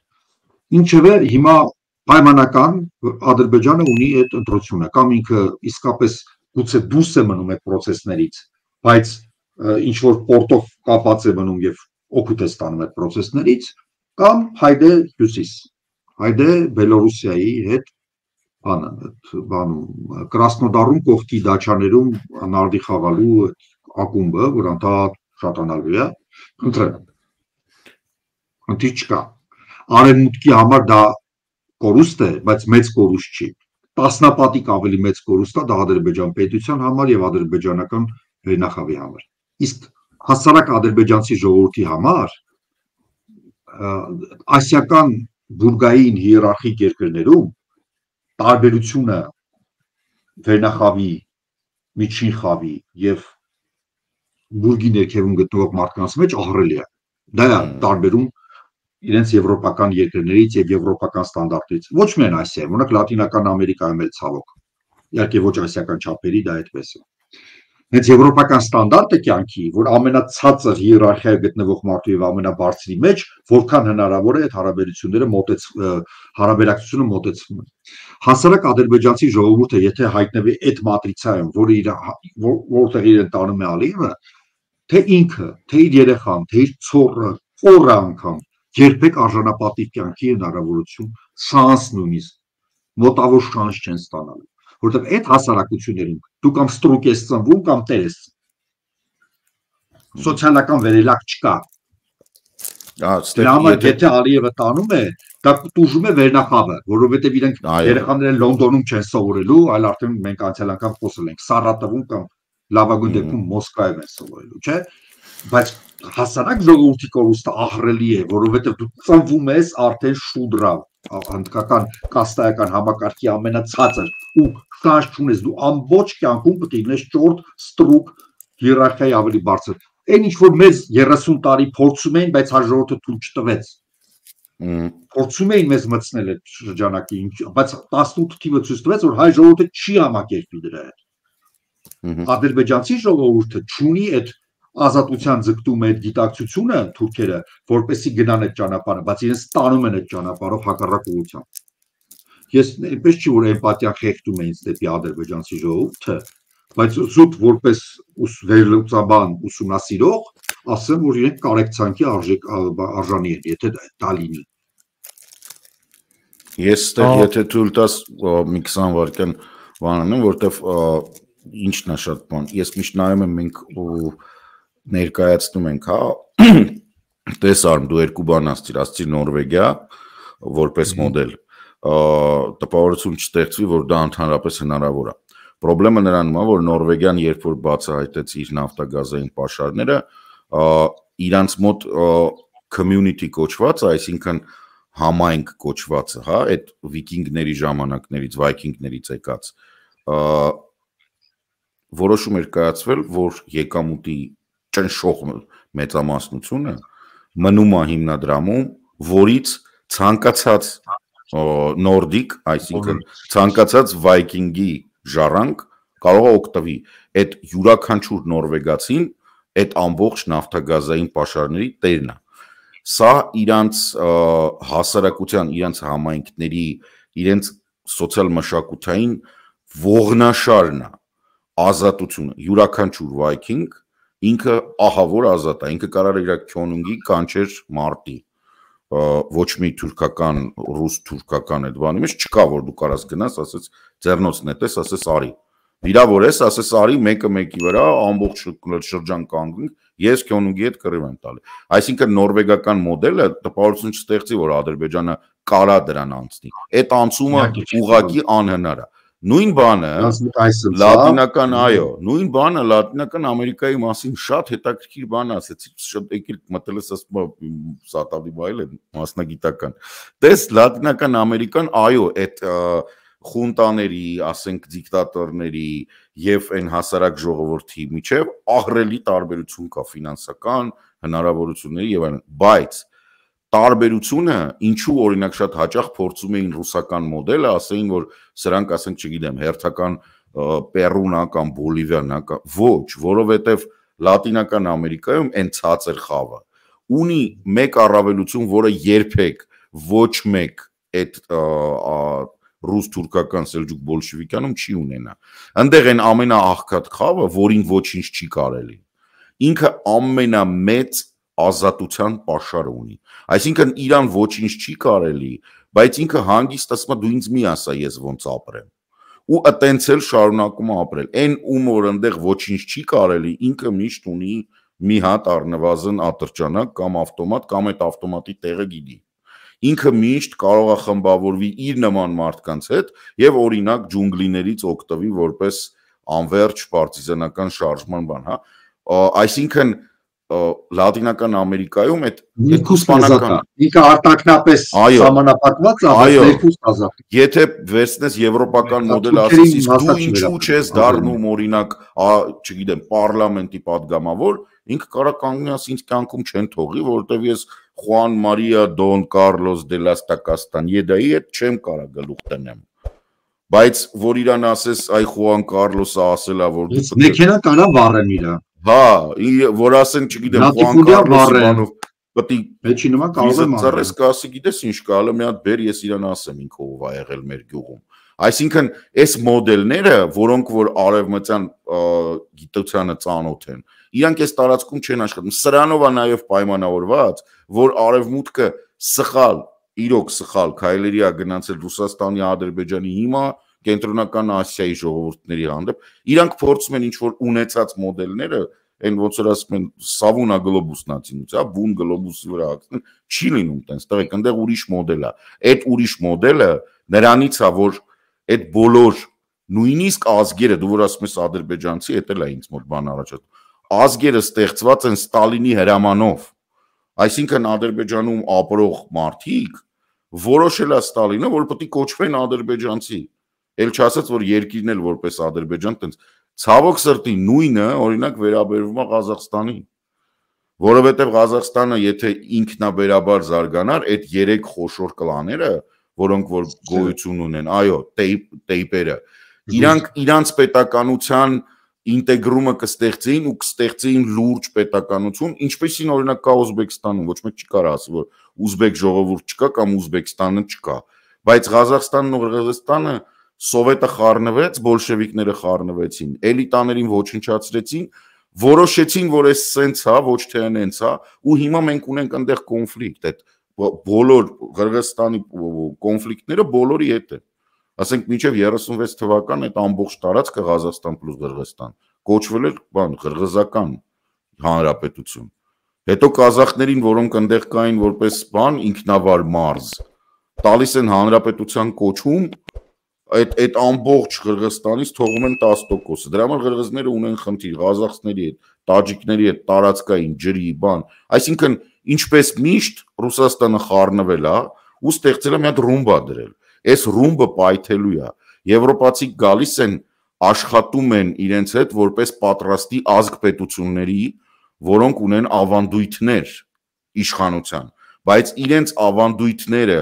Ինչևէ, հիմա պայմանական Ադրբեջանը ունի այդ ընտրությունը, կամ ինքը իսկապես գուցե դուրս է մնում այդ process-ներից, բայց ինչ որ պորտով կապած է մնում եւ օգուտ է ստանում այդ process-ներից, կամ հայդե հյուսիս, հայդե Բելոռուսիայի հետ բանը, բանում Կրասնոդարում կողքի դաչաներում նարդի խաղալու ակումբը, որ անդադ շատանալու է, ընտրել։ Ընտրի չկա։ Արևմուտքի համար դա կորուստ է, բայց մեծ կորուստ չի։ Տասնապատիկ ավելի մեծ կորուստ է դա Ադրբեջան պետության համար եւ ադրբեջանական վերնախավի համար։ Իսկ հասարակ ադրբեջանցի ժողովրդի համար ասիական բուրգային հիերարխիկ երկրներում տարբերությունը վերնախավի, միջին խավի եւ բուրգի ներքևում գտնվող մարդկանց մեջ ահռելի է։ Դա է տարբերում իրենց եվրոպական երկրներից եւ եվրոպական ստանդարտներից։ Ոչ միայն Ասիայում, օրինակ Լատինական Ամերիկայում էլ ցավոք։ Իհարկե ոչ ասիական չափերի դա այդպես է։ Հենց եվրոպական ստանդարտը կյանքի, որ ամենացածր հիերարխիայի գտնվող մարդու եւ ամենաբարձրի մեջ, որքան հնարավոր է այդ հարաբերությունները մոտեց հարաբերակցությունը մոտեցվում է։ Հասարակ ադրբեջանցի ժողովուրդը, եթե հայտնվի այդ մատրիցայում, որը իր որտեղ իրեն տանում է Ալիևը, թե ինքը, թե իր երեխան, թե իր ցորը, օրը անգամ երբեք արժանապատիվ կյանքի հնարավորություն շանս նույնիսկ մոտավոր շանս չեն ստանալու, որովհետև այդ հասարակություններում դու կամ ստրուկ ես ծնվում կամ տեր ես սոցիալական վերելակ չկա։ Դրա համար եթե Ալիևը տանում է, դա տուժում է վերնախավը, որովհետև իրենք երեխաները Լոնդոնում չեն սովորելու, այլ արդեն մենք անցյալ անգամ խոսել ենք Սարատովում կամ լավագույն դեպքում Մոսկվայում են սովորելու, չէ՞։ Բայց հասարակ ժողովրդի կորուստը ահռելի է, որովհետև դու ծնվում ես արդեն շուդրա, հնդկական կաստայական համակարգի ամենացածր ու շանս չունես, դու ամբողջ կյանքում պետք է լինես ճորտ, ստրուկ, հիերարխիայի ավելի բարձր։ Այն ինչ որ մեզ երեսուն տարի փորձում էին, բայց հաջորդը թույլ չտվեց։ Փորձում էին մեզ մտցնել այդ շրջանակի, բայց տասնութ թիվը ցույց տվեց, որ հայ ժողովուրդը չի համակերպվի դրա հետ։ Ադրբեջանցի ժողովուրդը չունի այդ ազատության ձգտում է այդ գիտակցությունը թուրքերը, որպեսզի գնան այդ ճանապարհը, բայց իրենց տանում են այդ ճանապարհով հակառակ ուղղությամբ։ Ես այնպես չի որ էմպաթիա խեղդում է ինձ դեպի ադրբեջանցի ժողովուրդը, բայց զուտ որպես վերլուծաբան ուսումնասիրող, ասեմ, որ իրենք կարեկցանքի արժանի են, եթե դա լինի։ Ես ստեղ եթե թույլ տաս մի քսան վայրկյան բան անեմ, որտեվ ինչն է շատ բան։ Ես միշտ նայում եմ մենք ու ներկայացնում ենք, հա, տես արմ դու երկու բան ասցիր, ասցիր Նորվեգիա որպես մոդել, տպավորություն չստեղծվի, որ դա ընդհանրապես հնարավոր է։ Պրոբլեմը նրանում է, որ Նորվեգիան երբ որ բացահայտեց իր նավթագազային պաշարները, իրանց մոտ community կոչված, այսինքն համայնք կոչվածը, հա, այդ վիկինգների ժամանակներից, վայքինգներից եկած, որոշում էր կայացվել, որ եկամուտի ճնշող մեծամասնությունը մնում է հիմնադրամում, որից ցանկացած նորդիկ, այսինքն ցանկացած վայքինգի ժառանգ կարող է օգտվի այդ յուրաքանչյուր նորվեգացին այդ ամբողջ նավթագազային պաշարների տերն է։ Սա իրանց հասարակության, իրանց համայնքների, իրենց սոցիալ-մշակութային ողնաշարն է, ազատությունը, յուրաքանչյուր վայքինգ ինքը ահավոր ազատ է, ինքը կարող է իր քյոնունգի կանչեր մարտի, ոչ մի թուրքական, ռուս թուրքական այդ բանի մեջ չկա, որ դու կարաս գնաս, ասես ձեռնոցն նետես, ասես արի, վիրավորես, ասես արի, մեկը մեկի վրա, ամբողջ շրջան կանգնենք, ես քյոնունգի հետ կռիվ եմ տալի։ Այսինքն նորվեգական մոդելը տպավորություն չստեղծի, որ Ադրբեջանը կարա դրան անցնի։ Այդ անցումը ուղղակի անհնար է։ Նույն բանը լատինական, այո, նույն բանը լատինական Ամերիկայի մասին շատ հետաքրքիր բան ասեցի, շատ եկել մտել ես ասում սատավի բայել է մասնագիտական։ Տես լատինական Ամերիկան, այո, այդ խունտաների, ասենք դիկտատորների եւ այն հասարակ ժողովրդի միջև ահռելի տարբերություն կա ֆինանսական հնարավորությունների եւ այլն, բայց տարբերությունը ինչու օրինակ շատ հաճախ փորձում էին ռուսական մոդելը, ասեին որ սրանք ասենք չգիտեմ հերթական Պերուն է կամ Բոլիվիան է, ոչ, որովհետև Լատինական Ամերիկայում այն ցածր խավը ունի մեկ առավելություն, որը երբեք ոչ մեկ այդ ռուս-թուրքական սելջուկ բոլշևիկյանում չի ունենա։ Այնտեղ այն ամենաաղքատ խավը, որին ոչինչ չի կարելի։ Ինքը ամենամեծ ազատության պաշարը ունի։ Այսինքն իրան ոչինչ չի կարելի, բայց ինքը հանգիստ ասում է դու ինձ մի ասա ես ոնց ապրեմ։ Ու այտենց էլ շարունակում է ապրել։ Այն ում որ այնտեղ ոչինչ չի կարելի, ինքը միշտ ունի մի հատ առնվազն ատրճանակ կամ ավտոմատ կամ այդ ավտոմատի տեղը գիտի։ Ինքը միշտ կարող է խմբավորվի իր նման մարդկանց հետ եւ օրինակ ջունգլիներից օգտվի որպես անվերջ պարտիզանական շարժման բան, հա։ Այսինքն Լատինական Ամերիկայում այդ երկուսպանական ինքը արտակնապես սահմանափակված է, բայց երկուստ ազատ։ Եթե վերցնես եվրոպական մոդելը, ասես իսկ դու ինչու չես դառնում օրինակ, չգիտեմ, պարլամենտի падգամավոր, ինքը կարա կանգնի ինձ կյանքում չեն թողի, որովհետև ես Խուան Մարիա Դոն Կարլոս դե լաս Տակաստան Եդայի հետ չեմ կարա գլուխ տնեմ։ բայց որ իրան ասես այ Խուան Կարլոսը ասելա որ մեքենա կարա վառեն իրան հա որ ասեն չգիտեմ Խուան Կարլոսի բանով պետք է մեջի նման կարող է ծառես կասի գիտես ինչ կա հələ մի հատ բեր ես իրան ասեմ ինքը ով ա եղել մեր գյուղում այսինքն այս մոդելները որոնք որ արևմտյան գիտությանը ծանոթ են իրանք այս տարածքում չեն աշխատում սրանով է նաև պայմանավորված որ արևմուտքը սխալ իրոք սխալ քայլերի է գնացել Ռուսաստանի Ադրբեջանի հիմա կենտրոնական Ասիայի ժողովուրդների հանդեպ իրանք փորձում են ինչ որ ունեցած մոդելները Այն ոնց որ ասում են սավունա գլոբուսն ացինուց, հա, բուն գլոբուսի վրա ացին, չի լինում տենց, տղեկ, այնտեղ ուրիշ մոդել է։ Այդ ուրիշ մոդելը նրանից է, որ այդ բոլոր նույնիսկ ազգերը, դու որ ասում ես ադրբեջանցի, էդ էլ է ինձ մոտ բան առաջ։ Ազգերը ստեղծված են Ստալինի հրամանով։ Այսինքն Ադրբեջանում ապրող մարդիկ որոշել է Ստալինը, որ պետք է կոչվեն ադրբեջանցի։ Էլ չասած, որ երկիրն էլ որպես Ադրբեջան տենց Ցավոք սրտի նույնը օրինակ վերաբերվում է Ղազախստանին, որովհետև Ղազախստանը եթե ինքնաբերաբար զարգանար, այդ երեք խոշոր կլաները, որոնք որ գոյություն ունեն, այո, տեյպերը, իրանք իրանց պետականության ինտեգրումը կստեղծեին ու կստեղծեին լուրջ պետականություն, ինչպեսին օրինակ կա Ուզբեկստանում, ոչ մեկ չի կարող ասի, որ ուզբեկ ժողովուրդ չկա կամ Ուզբեկստանը չկա, բայց Ղազախստանն ու Qırğızստանը Սովետը խառնվեց, բոլշևիկները խառնվեցին, էլիտաներին ոչնչացրեցին, որոշեցին, որ այս սենց հա, ոչ թե այնց հա, ու հիմա մենք ունենք այնտեղ կոնֆլիկտ, այդ բոլոր Qırğızստանի կոնֆլիկտները բոլորի հետ են։ Ասենք մինչև երեսունվեց թվական այդ ամբողջ տարածքը Ղազախստան պլյուս Qırğızստան կոչվել էր բան Qırğızական հանրապետություն։ Հետո կազախներին, որոնք այնտեղ կային որպես բան ինքնավար մարզ, տալիս են հանրապետության կոչում Այդ այդ ամբողջ Qırğızстанից թողում են տասը տոկոսը։ Դրա համար Qırğızները ունեն խնդիր Ղազախների հետ, տաջիկների հետ, տարածքային ջրի բան։ Այսինքն ինչպես միշտ Ռուսաստանը խառնվել է ու ստեղծել է մի հատ ռումբա դրել։ Այս ռումբը պայթելու է։ Եվրոպացիք գալիս են աշխատում են իրենց հետ որպես պատրաստի ազգ պետությունների, որոնք ունեն ավանդույթներ իշխանության, բայց իրենց ավանդույթները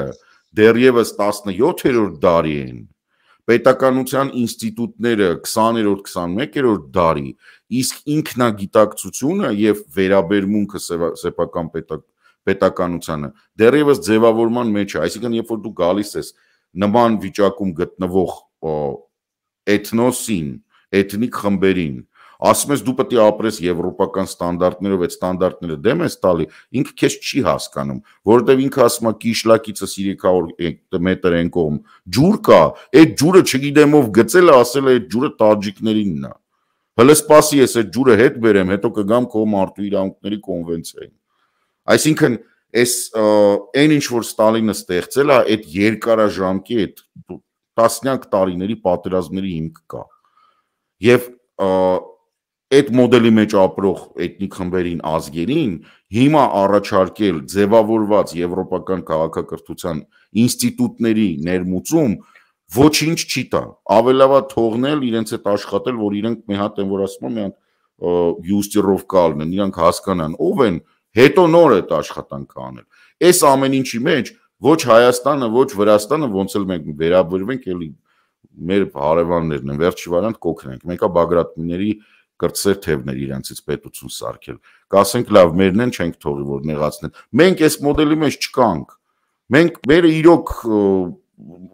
դեռևս տասնյոթերորդ դարի են։ Պետականության ինստիտուտները քսաներորդ քսանմեկերորդ դարի, իսկ ինքնագիտակցությունը եւ վերաբերմունքը սեփական պետականությանը դեռևս ձևավորման մեջ է, այսինքն երբ որ դու գալիս ես նման վիճակում գտնվող էթնոսին, էթնիկ խմբերին, ասում ես դու պետք է ապրես եվրոպական ստանդարտներով, այդ ստանդարտները դեմ ես տալի, ինքը քեզ չի հասկանում, որովհետև ինքը ասում է կիշլակիցս երեք հարյուր մետր են կողմ ջուր կա, այդ ջուրը չգիտեմ ով գծել է, ասել է այդ ջուրը տաջիկներինն է։ Հələ սպասի ես այդ ջուրը հետ բերեմ, հետո կգամ քո մարդու իրավունքների կոնվենցիային։ Այսինքն այս այն ինչ որ Ստալինը ստեղծել է, այդ երկարաժամկի այդ տասնյակ տարիների պատերազմների հիմք կա։ Եվ այդ մոդելի մեջ ապրող էթնիկ խմբերին ազգերին հիմա առաջարկել ձևավորված եվրոպական քաղաքակրթության ինստիտուտների ներմուծում ոչինչ չի տա։ Ավելավա թողնել իրենց հետ աշխատել, որ իրենք մի հատ են որ ասում են մի հատ յուստիրովկա ալնեն, իրանք հասկանան ով են, հետո նոր այդ աշխատանքը անել։ Այս ամեն ինչի մեջ ոչ Հայաստանը, ոչ Վրաստանը ոնց էլ մենք վերաբերվենք, էլի մեր հարևաններն են, վերջի վարանտ կօգնենք։ Մեկը Բագրատների կրտսեր թևներ իրանցից պետություն սարքել։ Կասենք լավ, մերն են չենք թողի որ նեղացնեն։ Մենք այս մոդելի մեջ չկանք։ Մենք մերը իրոք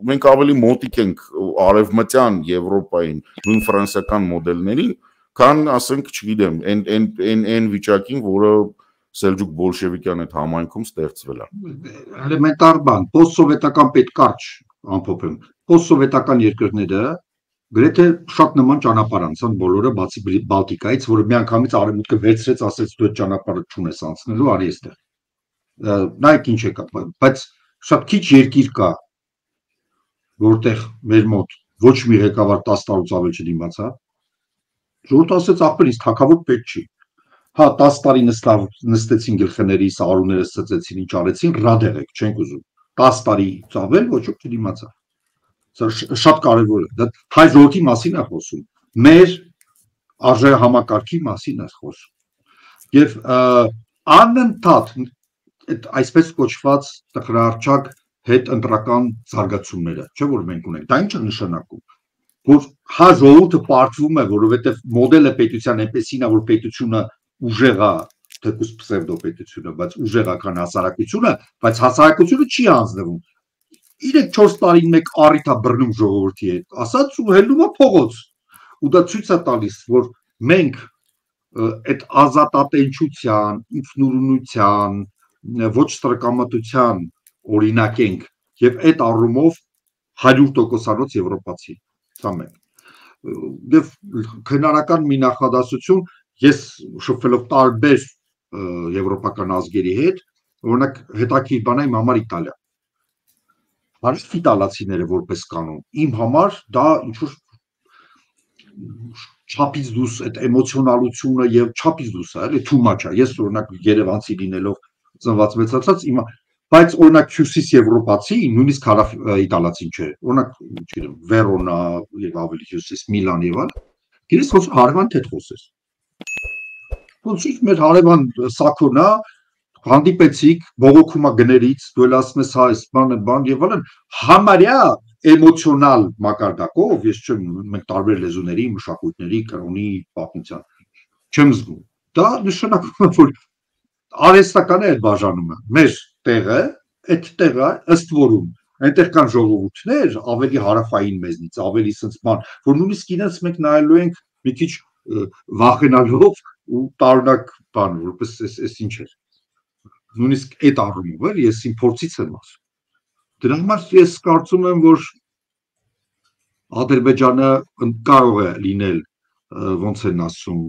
մենք ավելի մոտիկ ենք արևմտյան Եվրոպային, նույն ֆրանսիական մոդելներին, քան ասենք, չգիտեմ, այն այն այն այն վիճակին, որը Սելջուկ բոլշևիկյան այդ համայնքում ստեղծվել է։ Էլեմենտար բան, պոստսովետական պետքարճ ամփոփեմ։ Պոստսովետական երկրները գրեթե շատ նման ճանապարհ անցան բոլորը բացի Բալտիկայից, որը միանգամից արևմուտքը վերցրեց, ասեց դու այդ ճանապարհը չունես անցնելու, արի այստեղ։ Նայեք ինչ է կա, բայց շատ քիչ երկիր կա, որտեղ մեր մոտ ոչ մի ղեկավար տասը տարուց ավել չդիմաց, հա։ Ժողովուրդը ասեց ախպեր ինձ թագավոր պետք չի։ Հա տասը տարի նստեցին գլխների, սարուները սծեցին, ինչ արեցին, ռադեղեք, չենք ուզում։ տասը տարի ծավել ոչ ոք չդիմացավ։ Շատ կարևոր է, դա հայ ժողովրդի մասին է խոսում, մեր արժեհամակարգի մասին է խոսում։ Եվ անընդհատ այդ այսպես կոչված տխրահարճակ հետ ընտրական զարգացումները, չէ՞ որ մենք ունենք։ Դա ինչ է նշանակում, որ հա ժողովուրդը պարտվում է, որովհետև մոդելը պետության այնպեսին է, որ պետությունը ուժեղ է, թեկուզ պսևդոպետությունը, բայց ուժեղ է քան հասարակությունը, բայց հասարակությունը չի հանձնվում։ Երեք-չորս տարին մեկ առիթ է բռնում ժողովրդի հետ, ասած ու հելնում է փողոց։ Ու դա ցույց է տալիս, որ մենք այդ ազատատենչության, ինքնուրույնության, ոչ ստրկամտության օրինակ ենք եւ այդ առումով հարյուր տոկոսանոց եվրոպացի։ Սա մեկ։ Եվ քնարական մի նախադասություն, ես շփվելով տարբեր եվրոպական ազգերի հետ, օրինակ հետաքրքիր բան է իմ համար Իտալիա։ Հարուստ իտալացիները որպես կանոն, իմ համար դա ինչ-որ չափից դուրս այդ էմոցիոնալությունը եւ չափից դուրս է, էլի too much է։ Ես օրինակ Երևանցի լինելով ծնված մեծացած իմ, բայց օրինակ հյուսիս եվրոպացի, նույնիսկ հարավ իտալացին չէ։ Օրինակ, չգիտեմ, Վերոնա եւ ավելի հյուսիս Միլան եւ այլ։ Գիտես ոնց հարևան հետ խոսես։ Ոնց ինչ մեր հարևան Սաքոնա հանդիպեցիք, բողոքումա գներից, դու էլ ասում ես հա, այս բանը, բան եւ այլն, համարյա էմոցիոնալ մակարդակով, ես չեմ, մենք տարբեր լեզուների, մշակույթների, կրոնի, պատմության չեմ զգում։ Դա նշանակում է, որ արհեստական է այդ բաժանումը։ Մեր տեղը, այդ տեղը ըստ որում այնտեղ կան ժողովուրդներ, ավելի հարավային մեզնից, ավելի սենց բան, որ նույնիսկ իրենց մենք նայելու ենք մի քիչ վախենալով ու տարօրինակ բան, որպես էս ինչ է։ Նույնիսկ այդ առումով էլ ես իմ փորձից եմ ասում։ Դրա համար ես կարծում եմ, որ Ադրբեջանը կարող է լինել, ոնց են ասում,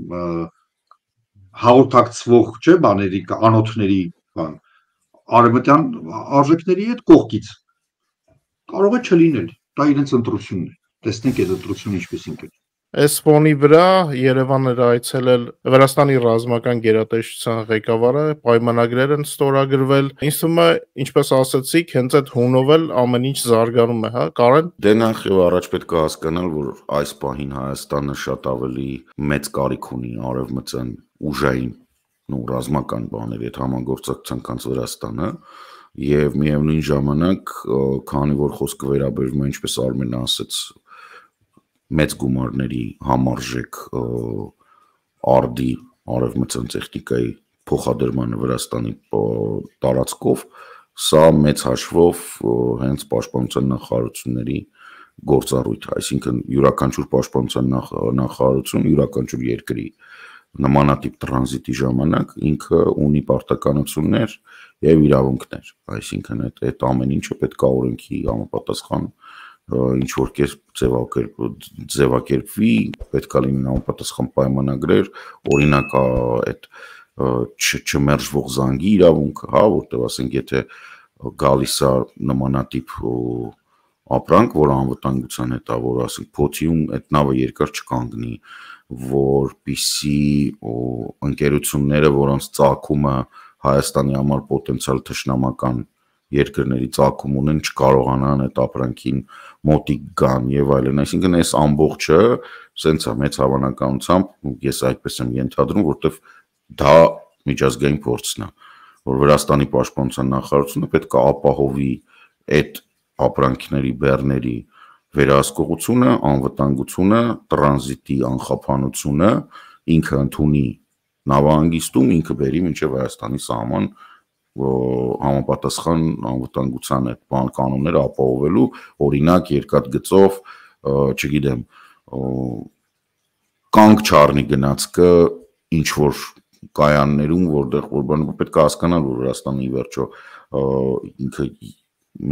հաղորդակցվող, չէ, բաների, անոթների բան, արևմտյան արժեքների հետ կողքից։ Կարող է չլինել, դա իրենց ընտրությունն է։ Տեսնենք այդ ընտրությունը ինչպես է։ Այս ֆոնի վրա Երևան էր այցելել Վրաստանի ռազմական գերատեսչության ղեկավարը, պայմանագրեր են ստորագրվել։ Ինձ թվում է, ինչպես ասացիք, հենց այդ հունով էլ ամեն ինչ զարգանում է, հա, Կարեն։ Դե նախ եւ առաջ պետք է հասկանալ, որ այս պահին Հայաստանը շատ ավելի մեծ կարիք ունի արևմտյան ուժային ու ռազմական բաների հետ համագործակցության, քան Վրաստանը, եւ միևնույն ժամանակ, քանի որ խոսքը վերաբերում է, ինչպես Արմենը ասաց, մեծ գումարների համարժեք արդի արևմտյան տեխնիկայի փոխադրմանը Վրաստանի տարածքով, սա մեծ հաշվով հենց պաշտպանության նախարարությունների գործառույթ, այսինքն յուրաքանչյուր պաշտպանության նախարարություն յուրաքանչյուր երկրի նմանատիպ տրանզիտի ժամանակ ինքը ունի պարտականություններ եւ իրավունքներ, այսինքն այդ այդ ամեն ինչը պետք է օրենքի համապատասխան ինչ որ կերպ ձևակերպվի, պետք է լինեն համապատասխան պայմանագրեր, օրինակ այդ չմերժվող զանգի իրավունքը, հա, որտեղ ասենք եթե գալիս է նմանատիպ ապրանք, որ անվտանգության հետ է, որ ասենք փոթիում այդ նավը երկար չկանգնի, որպիսի ընկերությունները, որոնց ծագումը Հայաստանի համար պոտենցիալ թշնամական երկրների ծագում ունեն, չկարողանան այդ ապրանքին մոտիկ գան եւ այլն, այսինքն այս ամբողջը սենց է մեծ հավանականությամբ ես այդպես եմ ենթադրում, որտեվ դա միջազգային փորձն է, որ Վրաստանի պաշտպանության նախարարությունը պետք է ապահովի այդ ապրանքների բեռների վերահսկողությունը, անվտանգությունը, տրանզիտի անխափանությունը, ինքը ընդունի նավահանգիստում, ինքը բերի մինչև Հայաստանի սահման համապատասխան անվտանգության այդ բան կանոնները ապահովելու, օրինակ երկաթգծով, չգիտեմ, կանգ չառնի գնացքը ինչ որ կայաններում, որտեղ որ բանը պետք է հասկանալ, որ Վրաստանի վերջո ինքը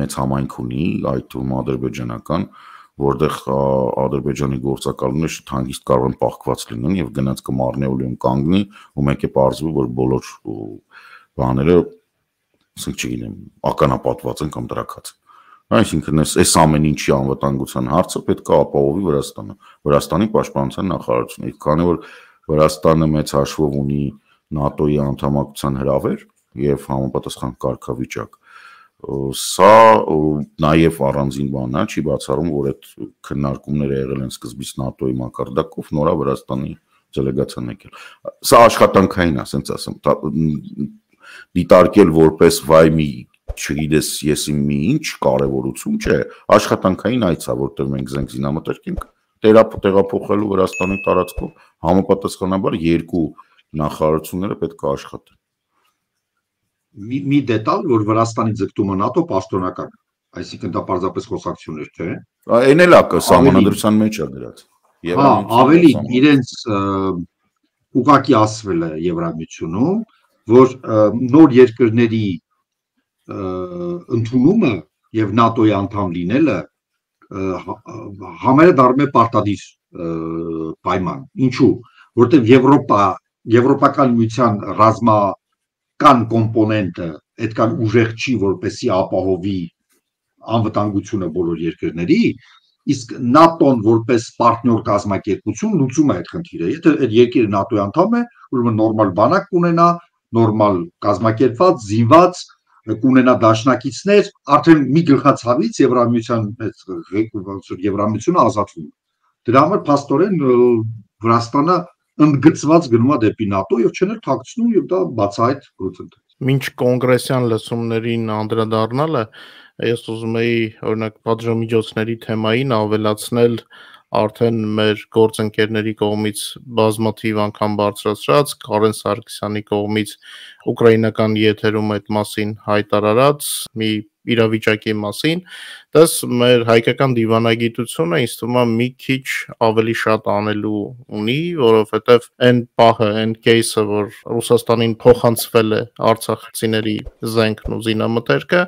մեծ համայնք ունի, այդ թվում ադրբեջանական, որտեղ Ադրբեջանի գործակալները շատ հանգիստ կարող են պահկված լինեն եւ գնացքը Մարնեոլիում կանգնի, ու մեկ է պարզվի, որ բոլոր բաները ասենք չգիտեմ, ականապատված են կամ տրակած։ Այսինքն այս ամեն ինչի անվտանգության հարցը պետք է ապահովի Վրաստանը, Վրաստանի պաշտպանության նախարարությունը, քանի որ Վրաստանը մեծ հաշվով ունի ՆԱՏՕ-ի անդամակցության հրավեր եւ համապատասխան կարգավիճակ։ Սա նաեւ առանձին բան է, չի բացառում, որ այդ քննարկումները եղել են սկզբից ՆԱՏՕ-ի մակարդակով, նորա Վրաստանի դելեգացիան եկել։ Սա աշխատանքային է, ասենց ասեմ, դիտարկել որպես վայ մի չգիտես եսի մի ինչ կարևորություն չէ, աշխատանքային այց է, որտեղ մենք զենք զինամթերք ենք տեղափոխելու Վրաստանի տարածքով, համապատասխանաբար երկու նախարարությունները պետք է աշխատեն։ Մի դետալ, որ Վրաստանի ձգտումը ՆԱՏՕ պաշտոնական, այսինքն դա պարզապես խոսակցություն էր, թե։ Այն էլ է սահմանադրության մեջ է դրած։ Հա, ավելին իրենց ուղղակի ասվել է Եվրամիությունում, որ նոր երկրների ընդունումը եւ ՆԱՏՕ-ի անդամ լինելը համարյա պարտադիր պայման։ Ինչու՞, որտեղ Եվրոպա, Եվրոպական միության ռազմական կոմպոնենտը այդքան ուժեղ չի, որպեսզի ապահովի անվտանգությունը բոլոր երկրների, իսկ ՆԱՏՕ-ն որպես պարտներ կազմակերպություն լուծում է այդ խնդիրը։ Եթե այդ երկիրը ՆԱՏՕ-ի անդամ է, ուրեմն նորմալ բանակ կունենա, նորմալ կազմակերպված, զինված, կունենա դաշնակիցներ, արդեն մի գլխացավից Եվրամիության Եվրամիությունը ազատվում է։ Դրա համար փաստորեն Վրաստանը ընդգծված գնում է դեպի ՆԱՏՕ եւ չեն թաքցնում եւ դա բացահայտ գործընթաց։ Մինչ կոնգրեսյան լսումներին անդրադառնալը, ես ուզում էի օրինակ պատժամիջոցների թեմային ավելացնել արդեն մեր գործընկերների կողմից բազմաթիվ անգամ բարձրացրած Կարեն Սարգսյանի կողմից ուկրաինական եթերում այդ մասին հայտարարած մի իրավիճակի մասին, դες մեր հայկական դիվանագիտությունը ինձ թվում է մի քիչ ավելի շատ անելու ունի, որովհետև այն պահը, այն кейսը, որ Ռուսաստանին փոխանցվել է արցախցիների զենքն ու զինամթերքը,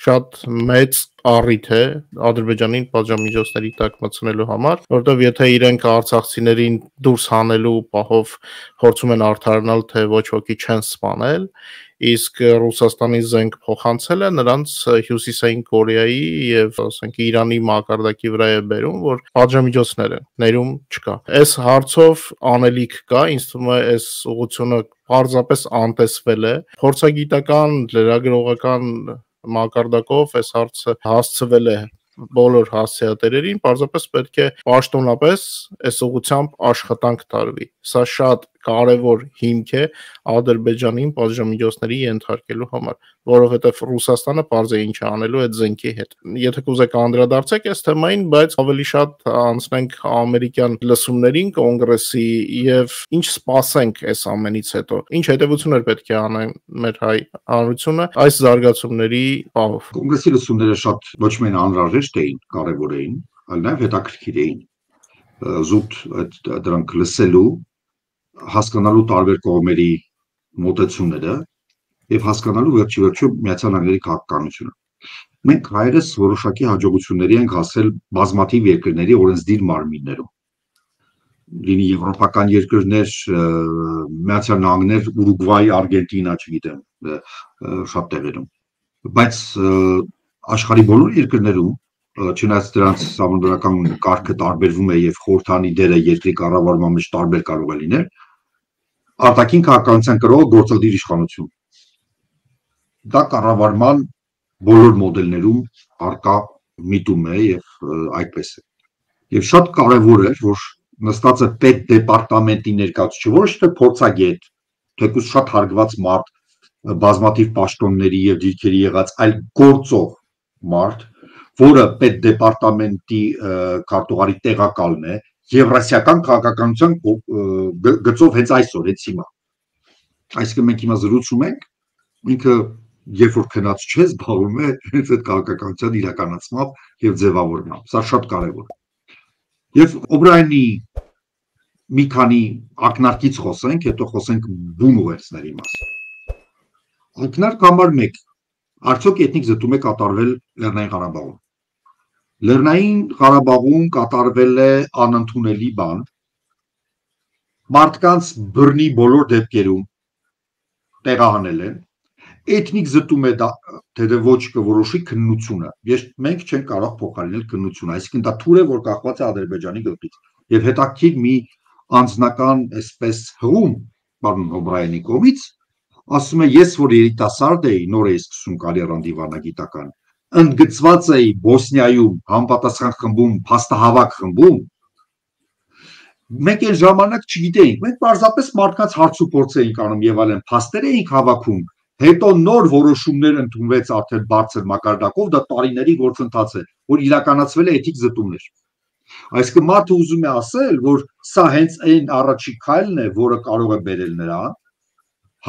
շատ մեծ առիթ է Ադրբեջանին պատժամիջոցների տակ մտցնելու համար, որովհետև եթե իրենք արցախցիներին դուրս հանելու պահով փորձում են արդարանալ, թե ոչ ոքի չեն սպանել, իսկ Ռուսաստանի զենք փոխանցելը նրանց Հյուսիսային Կորեայի եւ ասենք Իրանի մակարդակի վրա է բերում, որ պատժամիջոցները ներում չկա։ Այս հարցով անելիք կա, ինձ թվում է այս ուղղությունը պարզապես անտեսվել է, փորձագիտական, լրագրողական մակարդակով այս հարցը հասցվել է բոլոր հասցեատերերին, պարզապես պետք է պաշտոնապես այս ուղղությամբ աշխատանք տարվի։ Սա շատ կարևոր հիմք է Ադրբեջանին պատժամիջոցների ենթարկելու համար, որովհետև Ռուսաստանը պարզ է ինչ է անելու այդ զենքի հետ։ Եթե կուզեք անդրադարձեք այս թեմային, բայց ավելի շատ անցնենք ամերիկյան լսումներին, կոնգրեսի եւ ինչ սպասենք այս ամենից հետո։ Ինչ հետևություններ պետք է անեն մեր հայ հանրությունը այս զարգացումների պահով։ Կոնգրեսի լսումները շատ ոչ միայն անհրաժեշտ էին, կարևոր էին, այլ նաեւ հետաքրքիր էին։ Զուտ դրանք լսելու, հասկանալու տարբեր կողմերի մոտեցումները եւ հասկանալու վերջի վերջո Միացյալ Նահանգների քաղաքականությունը։ Մենք հայերս որոշակի հաջողությունների ենք հասել բազմաթիվ երկրների օրենսդիր մարմիններում։ Լինի եվրոպական երկրներ, Միացյալ Նահանգներ, Ուրուգվայ, Արգենտինա, չգիտեմ, շատ տեղերում։ Բայց աշխարհի բոլոր երկրներում, չնայած դրանց համանդրական կարգը տարբերվում է եւ խորհրդանի դերը երկրի կառավարման մեջ տարբեր կարող է լինել, արտաքին քաղաքականության կրող գործադիր իշխանություն։ Դա կառավարման բոլոր մոդելներում արկա միտում է եւ այդպես է։ Եվ շատ կարեւոր է, որ նստած է պետ դեպարտամենտի ներկայացուցիչը, ոչ թե փորձագետ, թեկուզ շատ հարգված մարդ, բազմաթիվ պաշտոնների եւ դիրքերի եղած, այլ գործող մարդ, որը պետ դեպարտամենտի քարտուղարի տեղակալն է, եվրասիական քաղաքականության գծով հենց այսօր, հենց հիմա։ Այսինքն մենք հիմա զրուցում ենք, ինքը երբ որ քնած չէ, զբաղվում է հենց այդ քաղաքականության իրականացմամբ եւ ձևավորմամբ։ Սա շատ կարեւոր է։ Եվ Օբրայանի մի քանի ակնարկից խոսենք, հետո խոսենք բուն ուղերձների մասին։ Ակնարկ համար մեկ, արդյոք էթնիկ զտում է կատարվել Լեռնային Ղարաբաղում։ Լեռնային Ղարաբաղում կատարվել է անընդունելի բան, մարդկանց բռնի բոլոր դեպքերում տեղահանել են, էթնիկ զտում է դա, թե ոչ կորոշի քննությունը, ես մենք չենք կարող փոխարինել քննությունը, այսինքն դա թուր է, որ կախված է Ադրբեջանի գլխից, եւ հետաքրքիր մի անձնական այսպես հղում, պարոն Օբրայանի կողմից, ասում է, ես որ երիտասարդ էի, նոր էի սկսում կարիերան դիվանագիտական, ընդգծված էի Բոսնիայում համապատասխան խմբում, փաստահավաք խմբում, մենք այն ժամանակ չգիտեինք, մենք պարզապես մարդկանց հարց ու փորձ էինք անում եւ այլն, փաստեր էինք հավաքում Հետո նոր որոշումներ ընդունվեց արդեն բարձր մակարդակով, դա տարիների գործընթաց է, որ իրականացվել է էթիկ զտումներ։ Այսինքն մարդը ուզում է ասել, որ սա հենց այն առաջի քայլն է, որը կարող է բերել նրան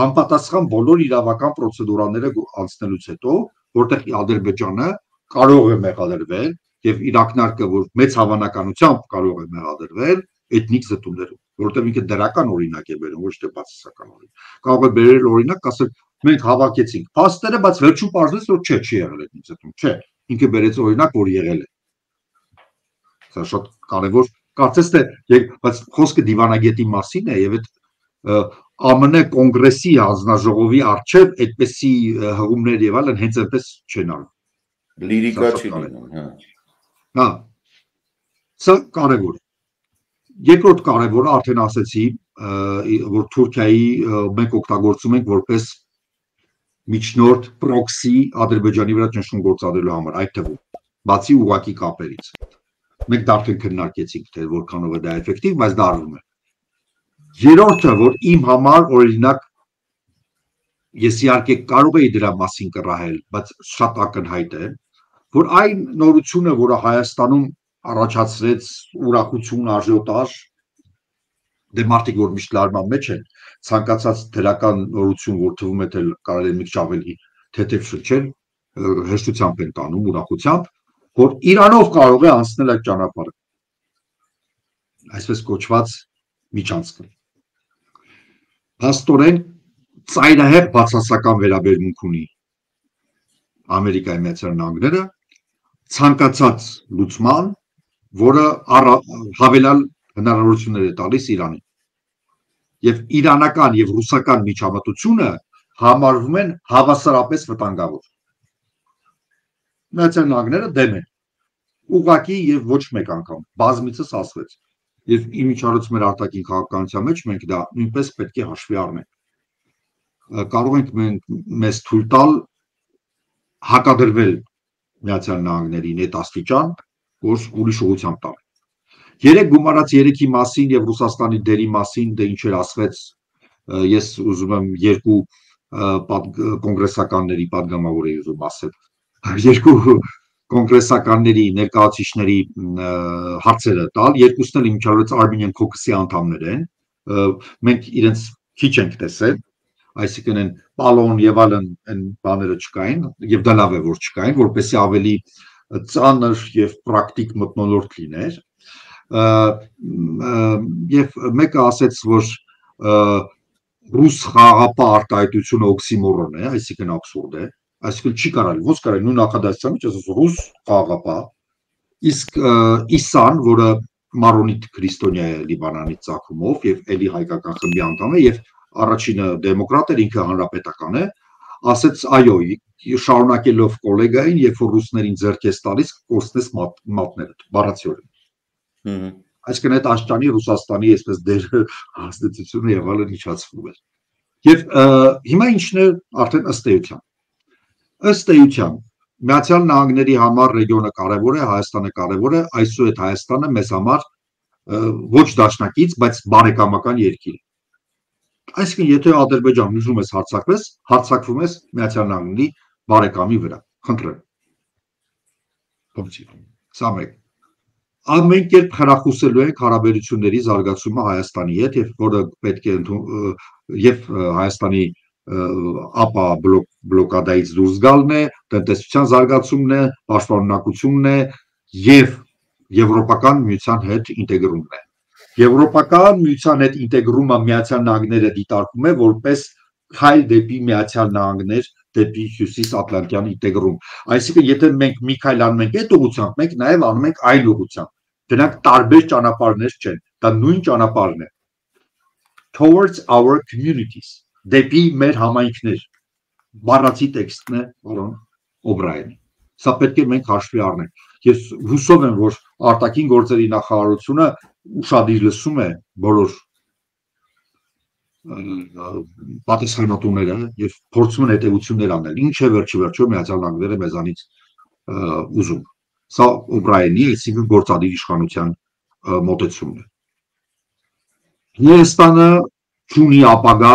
համապատասխան բոլոր իրավական պրոցեդուրաները անցնելուց հետո, որտեղ Ադրբեջանը կարող է մեղադրվել եւ իր ակնարկը, որ մեծ հավանականությամբ կարող է մեղադրվել էթնիկ զտումներով, որտեղ ինքը դրական օրինակ է բերում, ոչ թե բացասական օրինակ։ Կարող է բերել օրինակ, ասել մենք հավաքեցինք փաստերը, բայց վերջում պարզվեց, որ չէ, չի եղել էթնիկ զտում, չէ, ինքը բերեց օրինակ, որ եղել է։ Սա շատ կարևոր, կարծես թե, բայց խոսքը դիվանագետի մասին է եւ այդ ԱՄՆ կոնգրեսի հանձնաժողովի արչեւ այդպեսի հղումներ եւ այլն հենց այնպես չեն անում։ Լիրիկա չի լինում, հա։ Հա։ Սա կարևոր է։ Երկրորդ կարևորը արդեն ասեցի, որ Թուրքիայի մենք օգտագործում ենք որպես միջնորդ պրոքսի Ադրբեջանի վրա ճնշում գործադրելու համար, այդ թվում բացի ուղղակի կապերից։ Մենք դա արդեն քննարկեցինք, թե որքանով է դա էֆեկտիվ, բայց դա արվում է։ Երրորդը, որ իմ համար օրինակ ես իհարկե կարող էի դրա մասին կռահել, բայց շատ ակնհայտ է, որ այն նորությունը, որը Հայաստանում առաջացրեց ուրախություն, աժիոտաժ, դե մարդիկ որ միշտ լարման մեջ են, ցանկացած դրական նորություն, որ թվում է թե կարելի է մի քիչ ավելի թեթև շրջել, հեշտությամբ են տանում, ուրախությամբ, որ Իրանով կարող է անցնել այդ ճանապարհը։ Այսպես կոչված միջանցքը։ Փաստորեն ծայրահեղ բացասական վերաբերմունք ունի Ամերիկայի Միացյալ Նահանգները ցանկացած լուծման, որը հավելյալ հնարավորություններ է տալիս Իրանին։ Եվ իրանական եւ ռուսական միջամտությունը համարվում են հավասարապես վտանգավոր։ Միացյալ Նահանգները դեմ են։ Ուղղակի եւ ոչ մեկ անգամ բազմիցս ասվեց։ Եվ իմիջիայլոց մեր արտաքին քաղաքականության մեջ մենք դա նույնպես պետք է հաշվի առնենք։ Կարող ենք մենք մեզ թույլ տալ հակադրվել Միացյալ Նահանգներին այդ աստիճան, որ ուրիշ ուղղությամբ տան։ Երեք գումարած երեքի մասին եւ Ռուսաստանի դերի մասին դե ինչեր ասվեց, ես ուզում եմ երկու կոնգրեսականների падգամավոր էի ուզում ասել, երկու կոնգրեսականների ներկայացուցիչների հարցերը տալ, երկուսն էլ իմիջիայլոց Armenian Caucus-ի անդամներ են, մենք իրենց քիչ ենք տեսել, այսինքն են պալոն եւ այլն այն բաները չկային եւ դա լավ է որ չկային, որպեսզի ավելի ծանր եւ պրակտիկ մթնոլորտ լիներ։ Եվ մեկը ասեց, որ ռուս խաղապահ արտահայտությունը օքսիմորոն է, այսինքն աբսուրդ է, այսինքն չի կարելի, ոնց կարելի նույն նախադասությամբ ասես ռուս խաղապահ, իսկ Իսան, որը մարոնիտ քրիստոնյա է Լիբանանի ծագումով եւ էլի հայկական խմբի անդամ է եւ առաջինը դեմոկրատ էր, ինքը հանրապետական է, ասեց այո, շարունակելով կոլեգային, երբ որ ռուսներին ձեռք ես տալիս, կորցնես մատները, բառացիորեն։ Այսինքն այդ աշճանի Ռուսաստանի այսպես դեր հաստատությունը եւ այլն իջացվում էր։ Եվ հիմա ինչն է արդեն ըստ էության։ Ըստ էության Միացյալ Նահանգների համար ռեգիոնը կարևոր է, Հայաստանը կարևոր է, այսուհետ Հայաստանը մեզ համար ոչ դաշնակից, բայց բարեկամական երկիր է։ Այսինքն եթե Ադրբեջան ուզում ես հարձակվես, հարձակվում ես Միացյալ Նահանգների բարեկամի վրա, խնդրեմ։ Սա մեկ։ Ամեն կերպ խրախուսելու ենք հարաբերությունների զարգացումը Հայաստանի հետ եւ որը պետք է եւ Հայաստանի ապա բլոկադայից դուրս գալն է, տնտեսության զարգացումն է, պաշտպանունակությունն է եւ եվրոպական միության հետ ինտեգրումն է։ Եվրոպական միության հետ ինտեգրումը Միացյալ Նահանգները դիտարկում է որպես քայլ դեպի Միացյալ Նահանգներ, դեպի Հյուսիսատլանտյան ինտեգրում։ Այսինքն եթե մենք մի քայլ անում ենք այդ ուղղությամբ, մենք նաեւ անում ենք այլ ուղղությամբ։ Դրանք տարբեր ճանապարհներ չեն, դա նույն ճանապարհն է։ Towards our communities, դեպի մեր համայնքներ։ Բառացի տեքստն է, որոն Օբրայենի։ Սա պետք է մենք հաշվի առնենք։ Ես հուսով եմ, որ արտաքին գործերի նախարարությունը ուշադիր լսում է բոլոր պատասխանատուները եւ փորձում են հետեւություններ անել։ Ինչ է վերջի վերջո Միացյալ Նահանգները մեզանից ուզում։ Սա Օբրայենի, այսինքն գործադիր իշխանության մոտեցումն է։ Հայաստանը ունի ապագա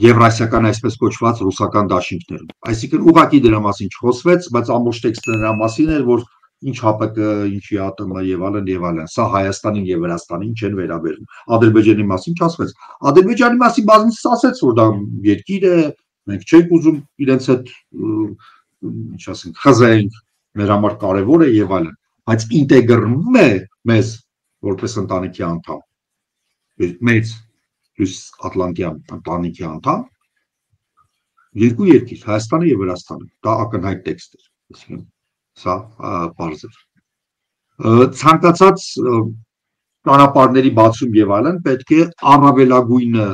եվրասիական այսպես կոչված ռուսական դաշինքներում։ Այսինքն ուղղակի դրա մասին չխոսվեց, բայց ամբողջ տեքստը նրա մասին էր, որ ինչ ՀԱՊԿ, ինչ ԵԱՏՄ եւ այլն եւ այլն։ Սա Հայաստանին եւ Վրաստանին չեն վերաբերում։ Ադրբեջանի մասին չասվեց։ Ադրբեջանի մասին բազմիցս ասեց, որ դա երկիր է, մենք չենք ուզում իրենց հետ ինչ ասենք, խզենք, մեր համար կարևոր է եւ այլն, բայց ինտեգրվում է մեզ որպես ընտանիքի անդամ։ Մեծ Հյուսիս Ատլանտյան ընտանիքի անդամ երկու երկիր, Հայաստանը եւ Վրաստանը, դա ակնհայտ տեքստ էր, այսինքն սա պարզ էր։ Ցանկացած ճանապարհների բացում եւ այլն պետք է առավելագույնը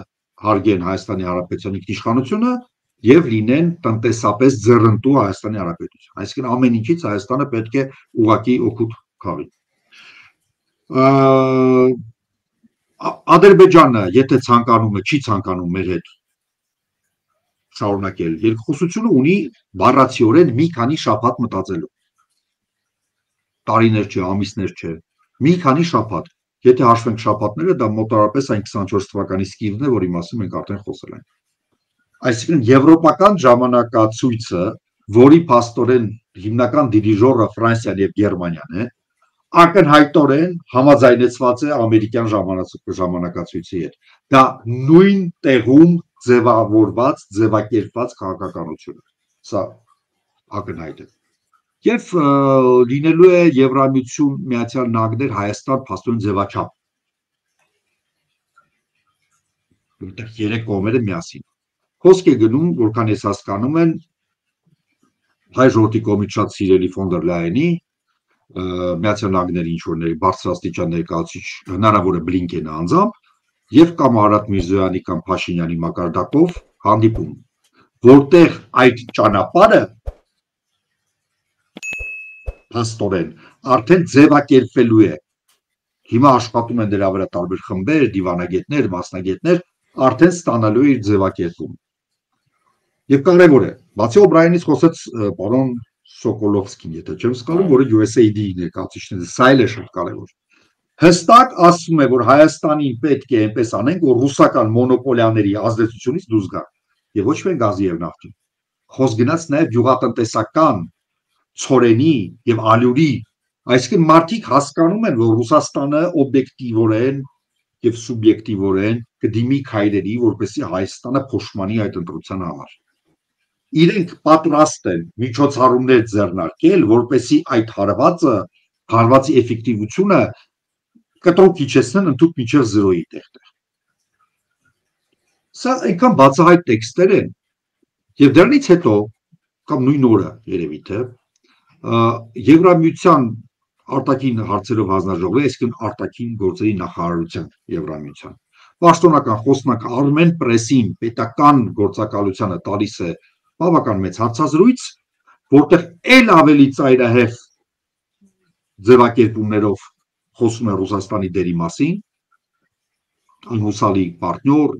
հարգեն Հայաստանի Հանրապետության ինքնիշխանությունը եւ լինեն տնտեսապես ձեռնտու Հայաստանի Հանրապետության։ Այսինքն ամեն ինչից Հայաստանը պետք է ուղղակի օգուտ քաղի։ Ադրբեջանը, եթե ցանկանում է, չի ցանկանում մեր հետ շարունակել երկխոսությունը, ունի բառացիորեն մի քանի շաբաթ մտածելու։ Տարիներ չէ, ամիսներ չէ, մի քանի շաբաթ։ Եթե հաշվենք շաբաթները, դա մոտավորապես այն քսանչորս թվականի սկիզբն է, որի մասին մենք արդեն խոսել ենք։ Այսինքն եվրոպական ժամանակացույցը, որի փաստորեն հիմնական դիրիժորը Ֆրանսիան եւ Գերմանիան է, ակնհայտորեն համաձայնեցված է ամերիկյան ժամանակացույցի հետ։ Դա նույն տեղում ձևավորված, ձևակերպված քաղաքականություն է։ Սա ակնհայտ է։ Եվ լինելու է Եվրամիություն, Միացյալ Նահանգներ, Հայաստան փաստորեն ձևաչափ։ Որտեղ երեք կողմերը միասին։ Խոսք է գնում, որքան ես հասկանում եմ, հայ ժողովրդի կողմից շատ սիրելի ֆոն դեր Լայենի, Միացյալ Նահանգների ինչ-որների բարձրաստիճան ներկայացուցիչ հնարավոր է Բլինկենը անձամբ եւ կամ Արադ Միրզոյանի կամ Փաշինյանի մակարդակով հանդիպում, որտեղ այդ ճանապարհը փաստորեն արդեն ձևակերպվելու է։ Հիմա աշխատում են դրա վրա տարբեր խմբեր, դիվանագետներ, մասնագետներ, արդեն ստանալու է իր ձևակերպումը։ Եվ կարևոր է, բացի Օբրայանից խոսեց պարոն Սոկոլովսկին, եթե չեմ սխալվում, որը յու էս էյ դի-ի ներկայացուցիչն է, սա էլ է շատ կարևոր։ Հստակ ասում է, որ Հայաստանին պետք է այնպես անենք, որ ռուսական մոնոպոլիաների ազդեցությունից դուրս գա, եւ ոչ միայն գազի եւ նավթի։ Խոսք գնաց նաեւ գյուղատնտեսական ցորենի եւ ալյուրի, այսինքն մարդիկ հասկանում են, որ Ռուսաստանը օբյեկտիվորեն եւ սուբյեկտիվորեն կդիմի քայլերի, որպեսզի Հայաստանը փոշմանի այդ ընտրության համար։ Իրենք պատրաստ են միջոցառումներ ձեռնարկել, որպեսզի այդ հարվածը, հարվածի էֆեկտիվությունը կտրուկ իջեցնեն ընդհանուր մինչև զրոյի տեղ։ Սա այնքան բացահայտ տեքստեր են, եւ դրանից հետո կամ նույն օրը երևի թե Եվրամիության արտաքին հարցերով հանձնաժողովի, այսինքն արտաքին գործերի նախարարության Եվրամիության պաշտոնական խոսնակ Արմեն Պրեսին պետական գործակալությանը տալիս է բավական մեծ հարցազրույց, որտեղ ել ավելի ծայրահեղ ձևակերպումներով խոսում է Ռուսաստանի դերի մասին, անհուսալի պարտնյոր,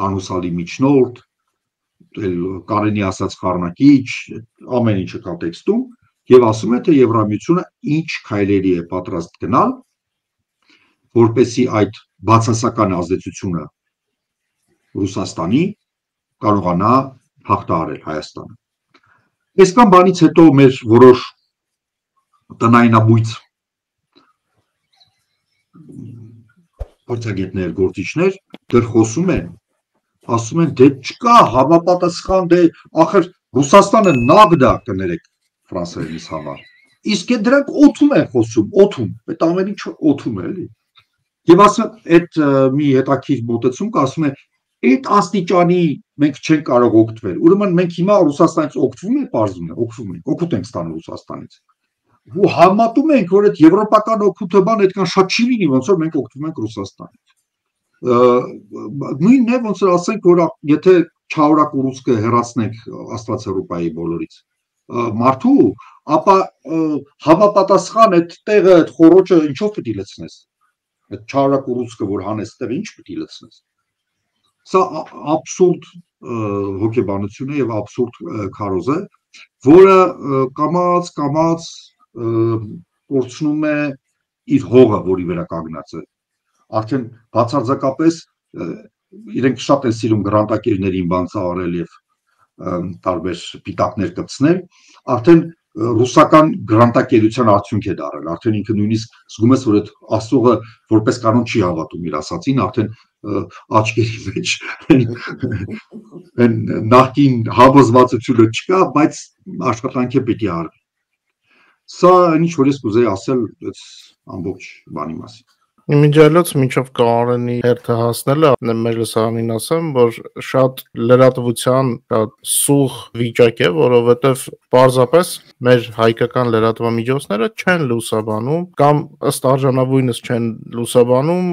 անհուսալի միջնորդ, կարելի ասած խառնակիչ, ամեն ինչը կա տեքստում, եւ ասում է, թե Եվրամիությունը ինչ քայլերի է պատրաստ գնալ, որպեսզի այդ բացասական ազդեցությունը Ռուսաստանի կարողանա հաղթահարել Հայաստանը։ Այսքան բանից հետո մեր որոշ տնայնաբույծ փորձագետներ, գործիչներ դեռ խոսում են, ասում են, դե չկա համապատասխան, դե ախր Ռուսաստանը նավդա կներեք ֆրանսերենից համար։ Իսկ այդ դրանք օթում են խոսում, օթում, այդ ամեն ինչը օթում է, էլի։ Եվ ասում այդ մի հետաքրքիր մոտեցում կա, ասում է, այդ աստիճանի մենք չենք կարող օգտվել։ Ուրեմն մենք հիմա Ռուսաստանից օգտվում ենք, բարձում է, օգտվում ենք, օգուտ ենք ստանում Ռուսաստանից։ Ու համատում ենք, որ այդ եվրոպական օգուտը բան այդքան շատ չի լինի, ոնց որ մենք օգտվում ենք Ռուսաստանից։ Նույնն է, ոնց որ ասենք, որ եթե Չաուրակ ուռուցքը հեռացնենք Աստված հռուպայի բոլորից մարդու, ապա համապատասխան այդ տեղը, այդ խոռոչը ինչով պիտի լցնես։ Այդ Չաուրակ ուռուցքը, որ հանես տեղը, ինչ պիտի լցնես։ Սա աբսուրդ հոգեբանություն է եւ աբսուրդ քարոզ է, որը կամած կամած կորցնում է իր հողը, որի վրա կանգնած է։ Արդեն բացարձակապես իրենք շատ են սիրում գրանտակիրներին բանցահարել եւ տարբեր պիտակներ կպցնել, արդեն ռուսական գրանտակերության արդյունք է դարել, արդեն ինքը նույնիսկ զգում ես, որ այդ աստուղը որպես կանոն չի հավատում իր ասացին, արդեն աչքերի մեջ նախկին հավոզվածությունը չկա, բայց աշխատանքը պիտի արվի։ Սա ինչ որ ես կուզեի ասել այս ամբողջ բանի մասին։ Մինչելոց մինչև Կարենի հերթը հասնելը մեր լսարանին ասեմ, որ շատ լրատվության շատ սուղ վիճակ է, որովհետև պարզապես մեր հայկական լրատվամիջոցները չեն լուսաբանում կամ ըստ արժանավույնս չեն լուսաբանում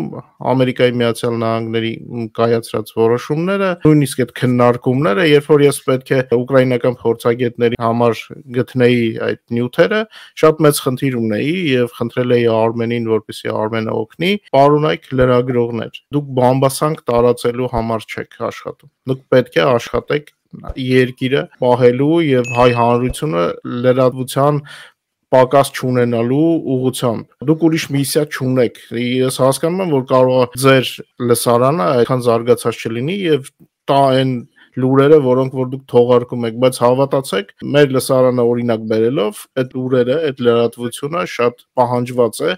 Ամերիկայի Միացյալ Նահանգների կայացրած որոշումները, նույնիսկ այդ քննարկումները, երբ որ ես պետք է ուկրաինական փորձագետների համար գտնեի այդ նյութերը, շատ մեծ խնդիր ունեի եւ խնդրել էի Արմենին, որպեսզի Արմենը օգնի Պարոնայք լրագրողներ, դուք բամբասանք տարածելու համար չեք աշխատում։ Դուք պետք է աշխատեք երկիրը պահելու եւ հայ հանրությունը լրատվության պակաս չունենալու ուղղությամբ։ Դուք ուրիշ միսիա չունեք։ Ես հասկանում եմ, որ կարող է ձեր լսարանը այդքան զարգացած չլինի եւ տա այն լուրերը, որոնք որ դուք թողարկում եք, բայց հավատացեք, մեր լսարանը օրինակ բերելով, այդ լուրերը, այդ լրատվությունը շատ պահանջված է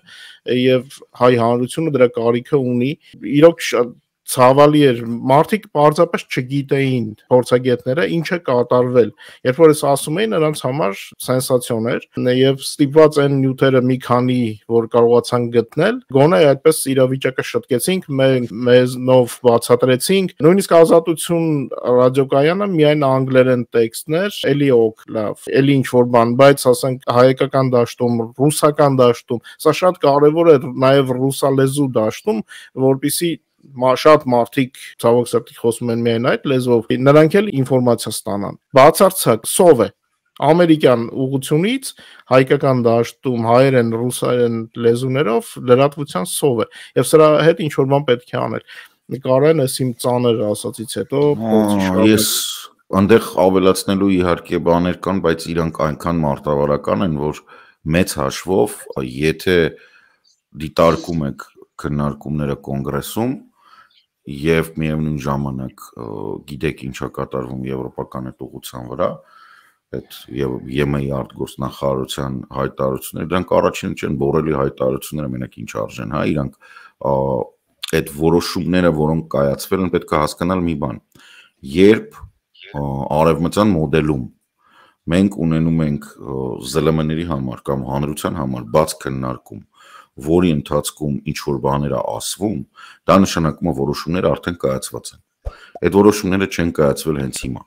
եւ հայ հանրությունը դրա կարիքը ունի։ Իրոք շատ ցավալի էր, մարդիկ պարզապես չգիտեին փորձագետները ինչ է կատարվել։ Երբ որ ես ասում էի, նրանց համար սենսացիոն էր եւ ստիպված այն նյութերը մի քանի որ կարողացան գտնել, գոնե այդպես իրավիճակը շտկեցինք, մեզնով բացատրեցինք, նույնիսկ Ազատություն ռադիոկայանը միայն անգլերեն տեքստներ, էլի օք, լավ, էլի ինչ որ բան, բայց ասենք հայկական դաշտում, ռուսական դաշտում, սա շատ կարեւոր է նաեւ ռուսալեզու դաշտում, որպեսզի շատ մարդիկ ցավոք սրտի խոսում են միայն այդ լեզվով, նրանք էլ ինֆորմացիա ստանան։ Բացարձակ սով է։ Ամերիկյան ուղղությունից հայկական դաշտում հայերեն, ռուսերեն լեզուներով լրատվության սով է։ Եվ սրա հետ ինչ որ բան պետք է անել։ Կարեն էս իմ ծանր ասացից հետո ես այնտեղ ավելացնելու իհարկե բաներ կան, բայց իրանք այնքան մարտավարական են, որ մեծ հաշվով, եթե դիտարկում եք քննարկումները կոնգրեսում եւ միևնույն ժամանակ գիտեք ինչա կատարվում եվրոպական այդ ուղղության վրա, այդ եւ ԵՄ-ի արտգործնախարարության հայտարարությունները, դրանք առաջին չեն բորելի հայտարարությունները մենակ ինչ արժեն, հա, իրանք այդ որոշումները, որոնք կայացվել են, պետք է հասկանալ մի բան։ Երբ արևմտյան մոդելում մենք ունենում ենք ԶԼՄ-ների համար կամ հանրության համար բաց քննարկում, որի ընթացքում ինչ որ բաներ է ասվում, դա նշանակում է որոշումները արդեն կայացված են։ Այդ որոշումները չեն կայացվել հենց հիմա։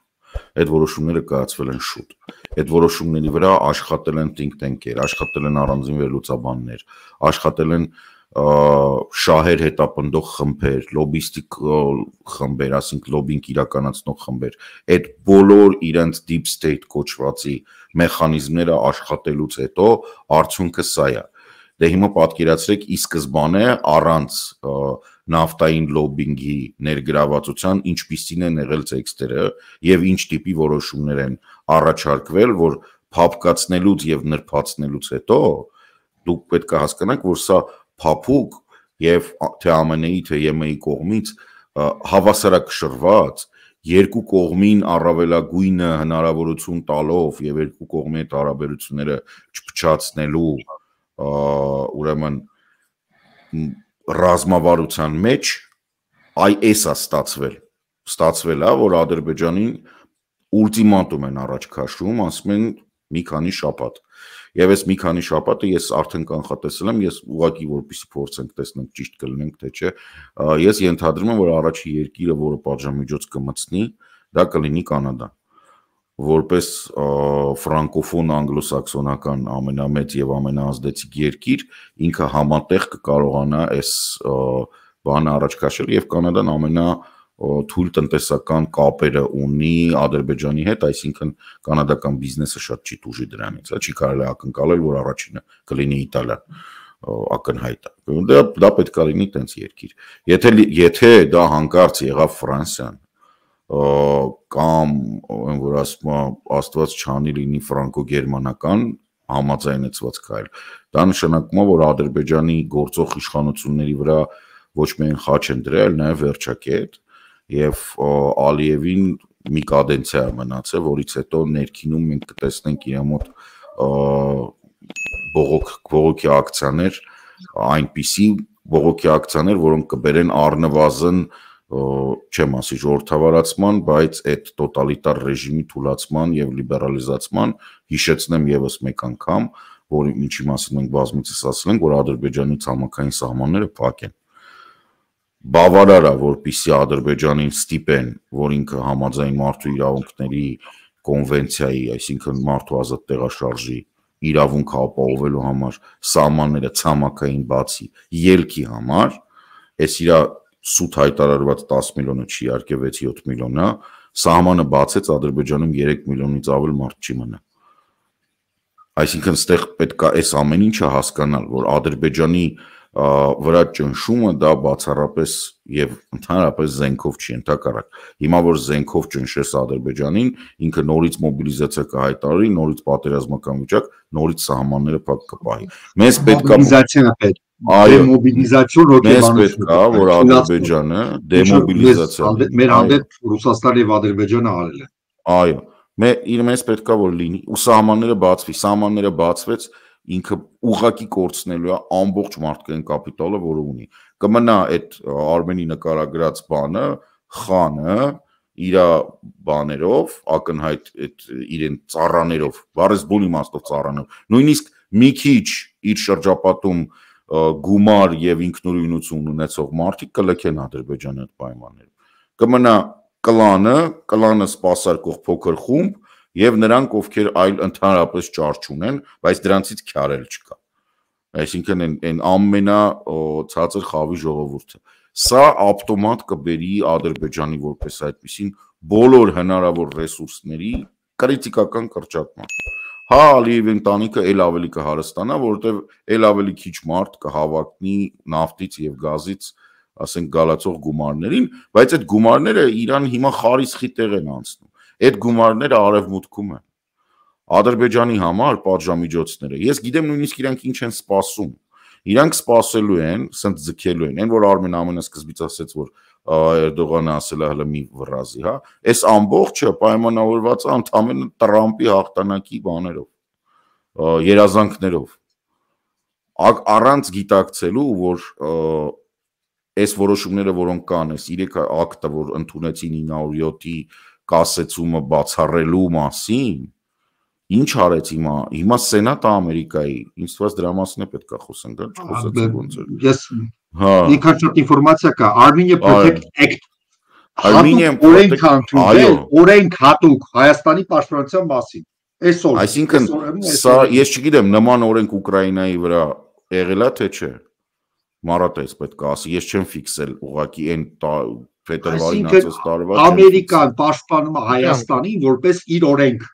Այդ որոշումները կայացվել են շուտ։ Այդ որոշումների վրա աշխատել են think tank-եր, աշխատել են առանձին վերլուծաբաններ, աշխատել են շահեր հետապնդող խմբեր, լոբիստիկ խմբեր, ասենք լոբինգ իրականացնող խմբեր, այդ բոլոր իրենց deep state կոչվածի մեխանիզմները աշխատելուց հետո արդյունքը սա է։ Դե հիմա պատկերացրեք ի սկզբանե առանց նավթային լոբինգի ներգրավվածության ինչպիսին են եղել տեքստերը եւ ինչ տիպի որոշումներ են առաջարկվել, որ փափկացնելուց եւ նրբացնելուց հետո դուք պետք է հասկանաք, որ սա փափուկ եւ թե ԱՄՆ-ի թե ԵՄ-ի կողմից հավասարակշռված երկու կողմին առավելագույնը հնարավորություն տալով եւ երկու կողմի այդ հարաբերությունները չփչացնելու ուրեմն ռազմավարության մեջ այ էսա ստացվել ստացվել է որ Ադրբեջանին ուլտիմատում են առաջ քաշում, ասում են մի քանի շաբաթ եւ այս մի քանի շաբաթը ես արդեն կանխատեսել եմ, ես ուղղակի որպեսզի փորձենք տեսնենք ճիշտ կլինենք թե չէ, ես ենթադրում եմ որ առաջի երկիրը, որը պատժամիջոց կմտցնի, դա կլինի Կանադա, որպես ֆրանկոֆոն անգլոսաքսոնական ամենամեծ եւ ամենաազդեցիկ երկիր, ինքը համատեղ կկարողանա այս բանը առաջ քաշել եւ Կանադան ամենա թույլ տնտեսական կապերը ունի Ադրբեջանի հետ, այսինքն կանադական բիզնեսը շատ չի տուժի դրանից, չի կարելի ակնկալել, որ առաջինը կլինի Իտալիան, ակնհայտ է։ Դա դա պետք է լինի տենց երկիր։ Եթե եթե դա հանկարծ եղավ Ֆրանսիան, կամ այն որ ասում է Աստված չանի լինի ֆրանկո-գերմանական համաձայնեցված քայլ, դա նշանակում է, որ Ադրբեջանի գործող իշխանությունների վրա ոչ միայն խաչ են դրել, նաև վերջակետ, եւ Ալիևին մի կադենցիա մնացել, որից հետո ներքինում մենք կտեսնենք իր մոտ բողոք բողոքի ակցիաներ, այնպիսի բողոքի ակցիաներ, որոնք կբերեն առնվազն չեմ ասի ժողովրդավարացման, բայց այդ տոտալիտար ռեժիմի թուլացման եւ լիբերալիզացման, հիշեցնեմ եւս մեկ անգամ, որ ինչի մասին մենք բազմիցս ասել ենք, որ Ադրբեջանի ցամաքային սահմանները փակ են։ Բավարար է, որպեսզի Ադրբեջանին ստիպեն, որ ինքը համաձայն մարդու իրավունքների կոնվենցիայի, այսինքն մարդու ազատ տեղաշարժի իրավունքը ապահովելու համար սահմանները ցամաքային բացի ելքի համար, այս իր սուտ հայտարարված տասը միլիոնը չի, իհարկե վեց-յոթ միլիոն է, սահմանը բացեց Ադրբեջանում երեք միլիոնից ավել մարդ չի մնա։ Այսինքն ստեղ պետք է այս ամեն ինչը հասկանալ, որ Ադրբեջանի վրա ճնշումը դա բացառապես եւ ընդհանրապես զենքով չի ընդհակառակ։ Հիմա որ զենքով ճնշես Ադրբեջանին, ինքը նորից մոբիլիզացիա կհայտարարի, նորից պատերազմական վիճակ, նորից սահմանները փակ կպահի։ Մեզ պետք է մոբիլիզացիա պետք։ Այո, մոբիլիզացիոն հոգեբանություն։ Մեզ պետք է, որ Ադրբեջանը դեմոբիլիզացիա մեր հանդեպ Ռուսաստանը եւ Ադրբեջանը արել են։ Այո, մեզ պետք է որ լինի ու սահմանները բացվի, սահմանները բացվեց ինքը ուղղակի կորցնելու է ամբողջ մարդկային կապիտալը, որը ունի։ Կմնա այդ Արմենի նկարագրած բանը, խանը, իր բաներով, ակնհայտ այդ իրեն ծառաներով, բառես բուն իմաստով ծառաներով, նույնիսկ մի քիչ իր շրջապատում գումար եւ ինքնուրույնություն ունեցող մարդիկ կլքեն Ադրբեջանի այդ պայմաններում։ Կմնա կլանը, կլանը սպասարկող փոքր խումբ եւ նրանք, ովքեր այլ ընդհանրապես ճար չունեն, բայց դրանցից քյարել չկա։ Այսինքն այն ամենա ցածր խավի ժողովուրդը։ Սա ավտոմատ կբերի Ադրբեջանի որպես այդպիսին բոլոր հնարավոր ռեսուրսների կրիտիկական կրճատման։ Հա Ալիևի ընտանիքը ել ավելի կհարստանա, որովհետեւ ել ավելի քիչ մարդ կհավատնի նավթից եւ գազից, ասենք գալացող գումարներին, բայց այդ գումարները Իրան հիմա խարիսխի տեղ են անցնում։ Այդ գումարները արևմուտքում են։ Ադրբեջանի համար պատժամիջոցները, ես գիտեմ նույնիսկ իրանք ինչ են սպասում։ Իրանք սպասելու են, սենց ձգելու են, այն որ Արմեն ամենասկզբից ասեց, որ Էրդողանը ասել է հələ մի վռազի, հա, այս ամբողջը պայմանավորված է ընդամենը Տրամպի հաղթանակի բաներով, երազանքներով։ Առանց գիտակցելու, որ այս որոշումները, որոնք կան, այս երեք ակտը, որ ընդունեցին ինը հարյուր յոթի կասեցումը բացառելու մասին, ինչ արեց հիմա, հիմա Սենատը Ամերիկայի, ինձ թվաց դրա մասին է պետք է խոսենք, դա չխոսեցինք ոնց էր։ Ես մի քիչ ինֆորմացիա կա, Armenia Protect Act, օրենք ընդունել, օրենք հատուկ Հայաստանի պաշտպանության մասին, այսօր։ Այսինքն, սա ես չգիտեմ, նման օրենք Ուկրաինայի վրա եղել է թե չէ, Մարատես պետք է ասի, ես չեմ ֆիքսել ուղղակի այն փետրվարին ասած տարվա։ Ամերիկան պաշտպանում է Հայաստանին որպես իր օրենք։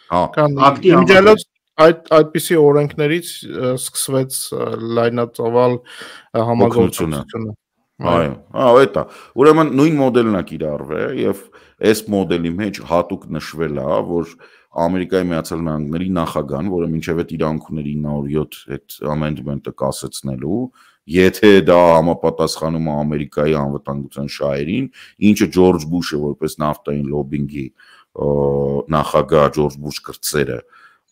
Իմիջիալոց այդ այդպիսի օրենքներից սկսվեց լայնածավալ համագործակցությունը։ Այո, այո, դա։ Ուրեմն նույն մոդելն է կիրառվել եւ այս մոդելի մեջ հատուկ նշվել է, որ Ամերիկայի Միացյալ Նահանգների նախագահան, որը մինչև այդ իրավունք ուներ ինը հարյուր յոթ այդ ամենդմենտը կասեցնելու, եթե դա համապատասխանում է Ամերիկայի անվտանգության շահերին, ինչը Ջորջ Բուշը որպես նավթային լոբինգի նախագահ Ջորջ Բուշ կրտսերը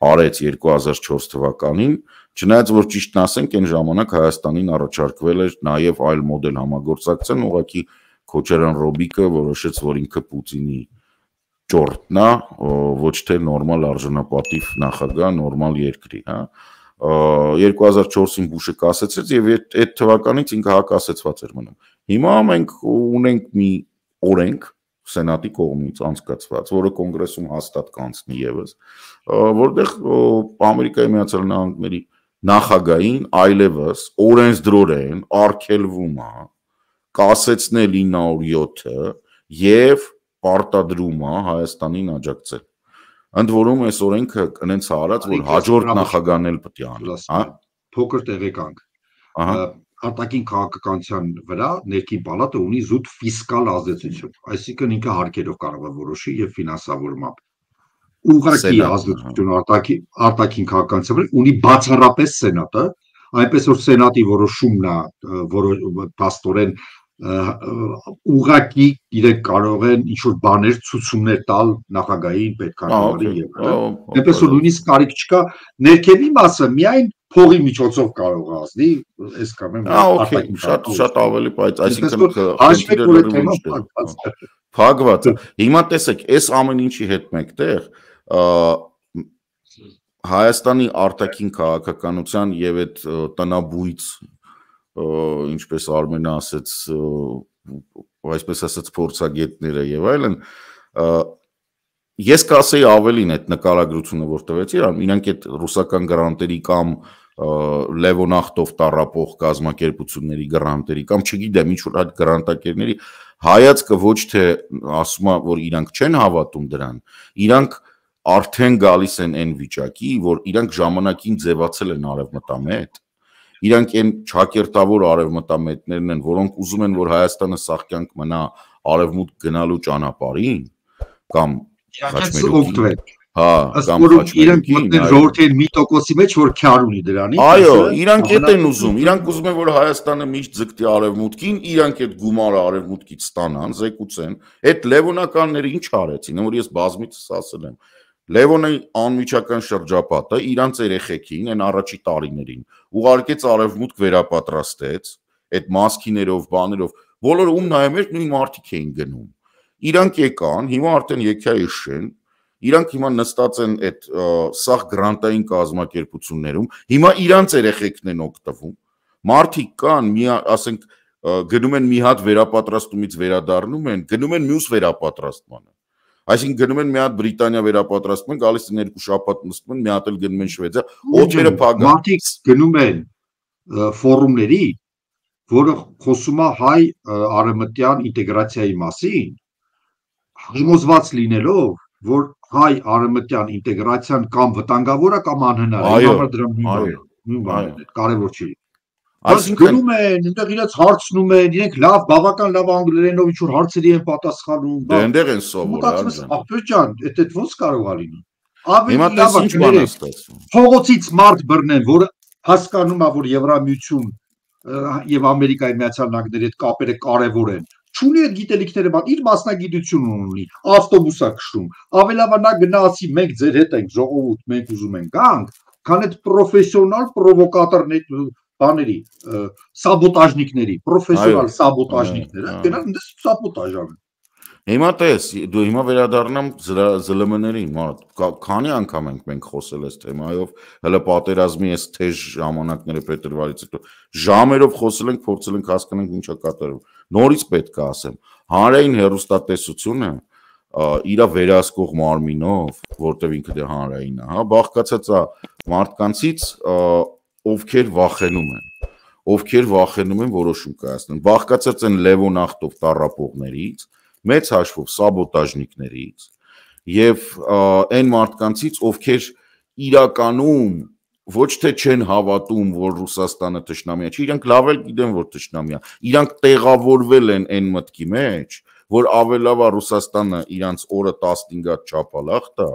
արեց երկու հազար չորս թվականին, չնայած որ ճիշտն ասենք, այն ժամանակ Հայաստանին առաջարկվել էր նաև այլ մոդել համագործակցության, ուղղակի Քոչարյան Ռոբիկը որոշեց, որ ինքը Պուտինի ճորտն է, ոչ թե նորմալ արժանապատիվ նախագահ նորմալ երկրի, հա։ երկու հազար չորսին Բուշը կասեցեց եւ այդ թվականից ինքը հակասեցված էր մնում։ Հիմա մենք ունենք մի օրենք Սենատի կողմից անցկացված, որը կոնգրեսում հաստատ կանցնի եւս, որտեղ Ամերիկայի Միացյալ Նահանգների նախագահին այլևս օրենսդրորեն արգելվում է կասեցնել ինը հարյուր յոթը եւ պարտադրում է Հայաստանին աջակցել։ Ընդ որում այս օրենքը կնենց արած, որ հաջորդ նախագահն էլ պետք է անի, հա։ Փոքր տեղեկանք։ Ահա արտաքին քաղաքականության վրա ներքին պալատը ունի զուտ ֆիսկալ ազդեցություն, այսինքն ինքը հարկերով կարող է որոշի եւ ֆինանսավորմամբ։ Ուղղակի ազդեցություն արտաքին արտաքին քաղաքականության վրա ունի բացառապես Սենատը, այնպես որ Սենատի որոշումն է, որը փաստորեն ուղղակի իրենք կարող են ինչ-որ բաներ ցուցումներ տալ նախագահային պետքարտուղարին եւ այլն։ Այնպես որ նույնիսկ կարիք չկա ներքևի մասը միայն փողի միջոցով կարող է ազդի, այս կամ այն արտաքին շատ շատ ավելի բայց այսինքն փակված։ Հիմա տեսեք, այս ամեն ինչի հետ մեկտեղ Հայաստանի արտաքին քաղաքականության եւ այդ տնաբույց ինչպես Արմենը ասաց, այսպես ասած փորձագետները եւ այլն, ես կասեի ավելին այդ նկարագրությունը որ տվեցի, իրանք այդ ռուսական գրանտերի կամ Լևոնախտով տառապող կազմակերպությունների գրանտերի կամ չգիտեմ ինչ որ այդ գրանտակերների հայացքը ոչ թե ասում է որ իրանք չեն հավատում դրան, իրանք արդեն գալիս են այն վիճակի, որ իրանք ժամանակին ձևացել են արևմտամետ, իրանք այն ճակերտավոր արևմտամետներն են, որոնք ուզում են, որ Հայաստանը սաղկյանք մնա արևմուտք գնալու ճանապարհին, կամ խաչմերուկին, հա, կամ իրանք մտնեն ժողովրդային մի տոկոսի մեջ, որ քյար ունի դրանից։ Այո, իրանք էդ են ուզում, իրանք ուզում են, որ Հայաստանը միշտ ձգտի արևմուտքին, իրանք այդ գումարը արևմուտքից ստանան, զեկուցեն, այդ լևոնականները ինչ արեցին, որ ես բազմիցս ասել եմ, Լևոնի անմիջական շրջապատը իրանց երեխեքին այն առաջի տարիներին ուղարկեց արևմուտք վերապատրաստեց, այդ մասքիներով, բաներով, բոլորը ում նայում էր նույն մարդիկ էին գնում։ Իրանք եկան, հիմա արդեն եկա էշեն, իրանք հիմա նստած են այդ սաղ գրանտային կազմակերպություններում, հիմա իրանց երեխեքն են օգտվում։ Մարդիկ կան, մի ասենք գնում են մի հատ վերապատրաստումից վերադառնում են, գնում են մյուս վերապատրաստմանը։ Այսինքն գնում են մի հատ Բրիտանիա վերապատրաստում են, գալիս են երկու շաբաթ նստում են, մի հատ էլ գնում են Շվեդիա, օջերը փական։ Մարդիկ գնում են ֆորումների, որը խոսում է հայ արևմտյան ինտեգրացիայի մասին, համոզված լինելով, որ հայ արևմտյան ինտեգրացիան կամ վտանգավոր է կամ անհնար է, համար դրան նույն բանն է, կարևոր չի։ Այսինքն գնում են, այնտեղ իրաց հարցնում են, իրենք լավ, բավական լավ անգլերենով ինչ-որ հարցերի են պատասխանում։ Դե այնտեղ են սովորել։ Ախպեր ջան, դա ոնց կարող է լինել։ Հիմա տես ինչ բան է ստացվում։ Փողոցից մարդ բռնեն, որը հասկանում է, որ Եվրամիություն եւ Ամերիկայի Միացյալ Նահանգների հետ կապերը կարեւոր են։ Չունի այդ գիտելիքները, բայց իր մասնագիտություն ունի, ավտոբուս է քշում։ Ավելավա նա գնացի, մենք ձեր հետ ենք ժողովուրդ, մենք ուզում ենք գանք, քան այդ պրոֆեսիոնալ պրովոկատորներ բաների, սաբոտաժնիկների, պրոֆեսիոնալ սաբոտաժնիկները, գնան դες սաբոտաժ անեն։ Հիմա տես, դու հիմա վերադառնամ ԶԼՄ-ներին, քանի անգամ ենք մենք խոսել այս թեմայով, հələ պատերազմի այս թեժ ժամանակները փետրվարից հետո ժամերով խոսել ենք, փորձել ենք հասկանանք ինչա կատարվում։ Նորից պետք է ասեմ, հանրային հեռուստատեսությունը իր վերահսկող մարմինով, որտեղ ինքը դե հանրային է, հա, բաղկացած է մարդկանցից, ովքեր վախենում են, ովքեր վախենում են որոշում կայացնել, բաղկացած են Լևոնախտով տառապողներից, մեծ հաշվով սաբոտաժնիկներից եւ այն մարդկանցից, ովքեր իրականում ոչ թե չեն հավատում, որ Ռուսաստանը թշնամի է, չէ, իրանք լավ էլ գիտեն, որ թշնամի է, իրանք տեղավորվել են այն մտքի մեջ, որ ավելավա Ռուսաստանը իրանց օրը տասնհինգ հատ չափալախ տա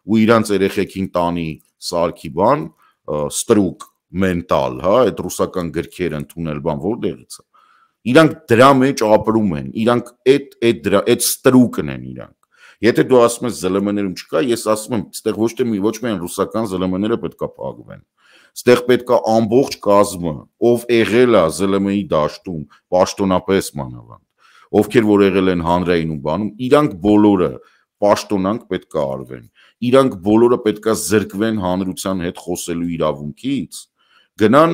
ու իրանց երեխեքին տանի սարքի բան, ստրուկ մենտալ, հա, այդ ռուսական գրքեր ընդունել բան որտեղից է։ Իրանք դրա մեջ ապրում են, իրանք այդ այդ դրա այդ ստրուկն են իրանք։ Եթե դու ասում ես ԶԼՄ-ներում չկա, ես ասում եմ, այստեղ ոչ թե մի ոչ միայն ռուսական ԶԼՄ-ները պետքա փակվեն։ Այստեղ պետքա ամբողջ կազմը, ով եղել է ԶԼՄ-ի դաշտում, պաշտոնապես մանավանդ, ովքեր որ եղել են հանրային ու բանում, իրանք բոլորը պաշտոնանք պետքա արվեն։ Իրանք բոլորը պետքա զրկվեն հանրության հետ խոսելու իրավունքից, գնան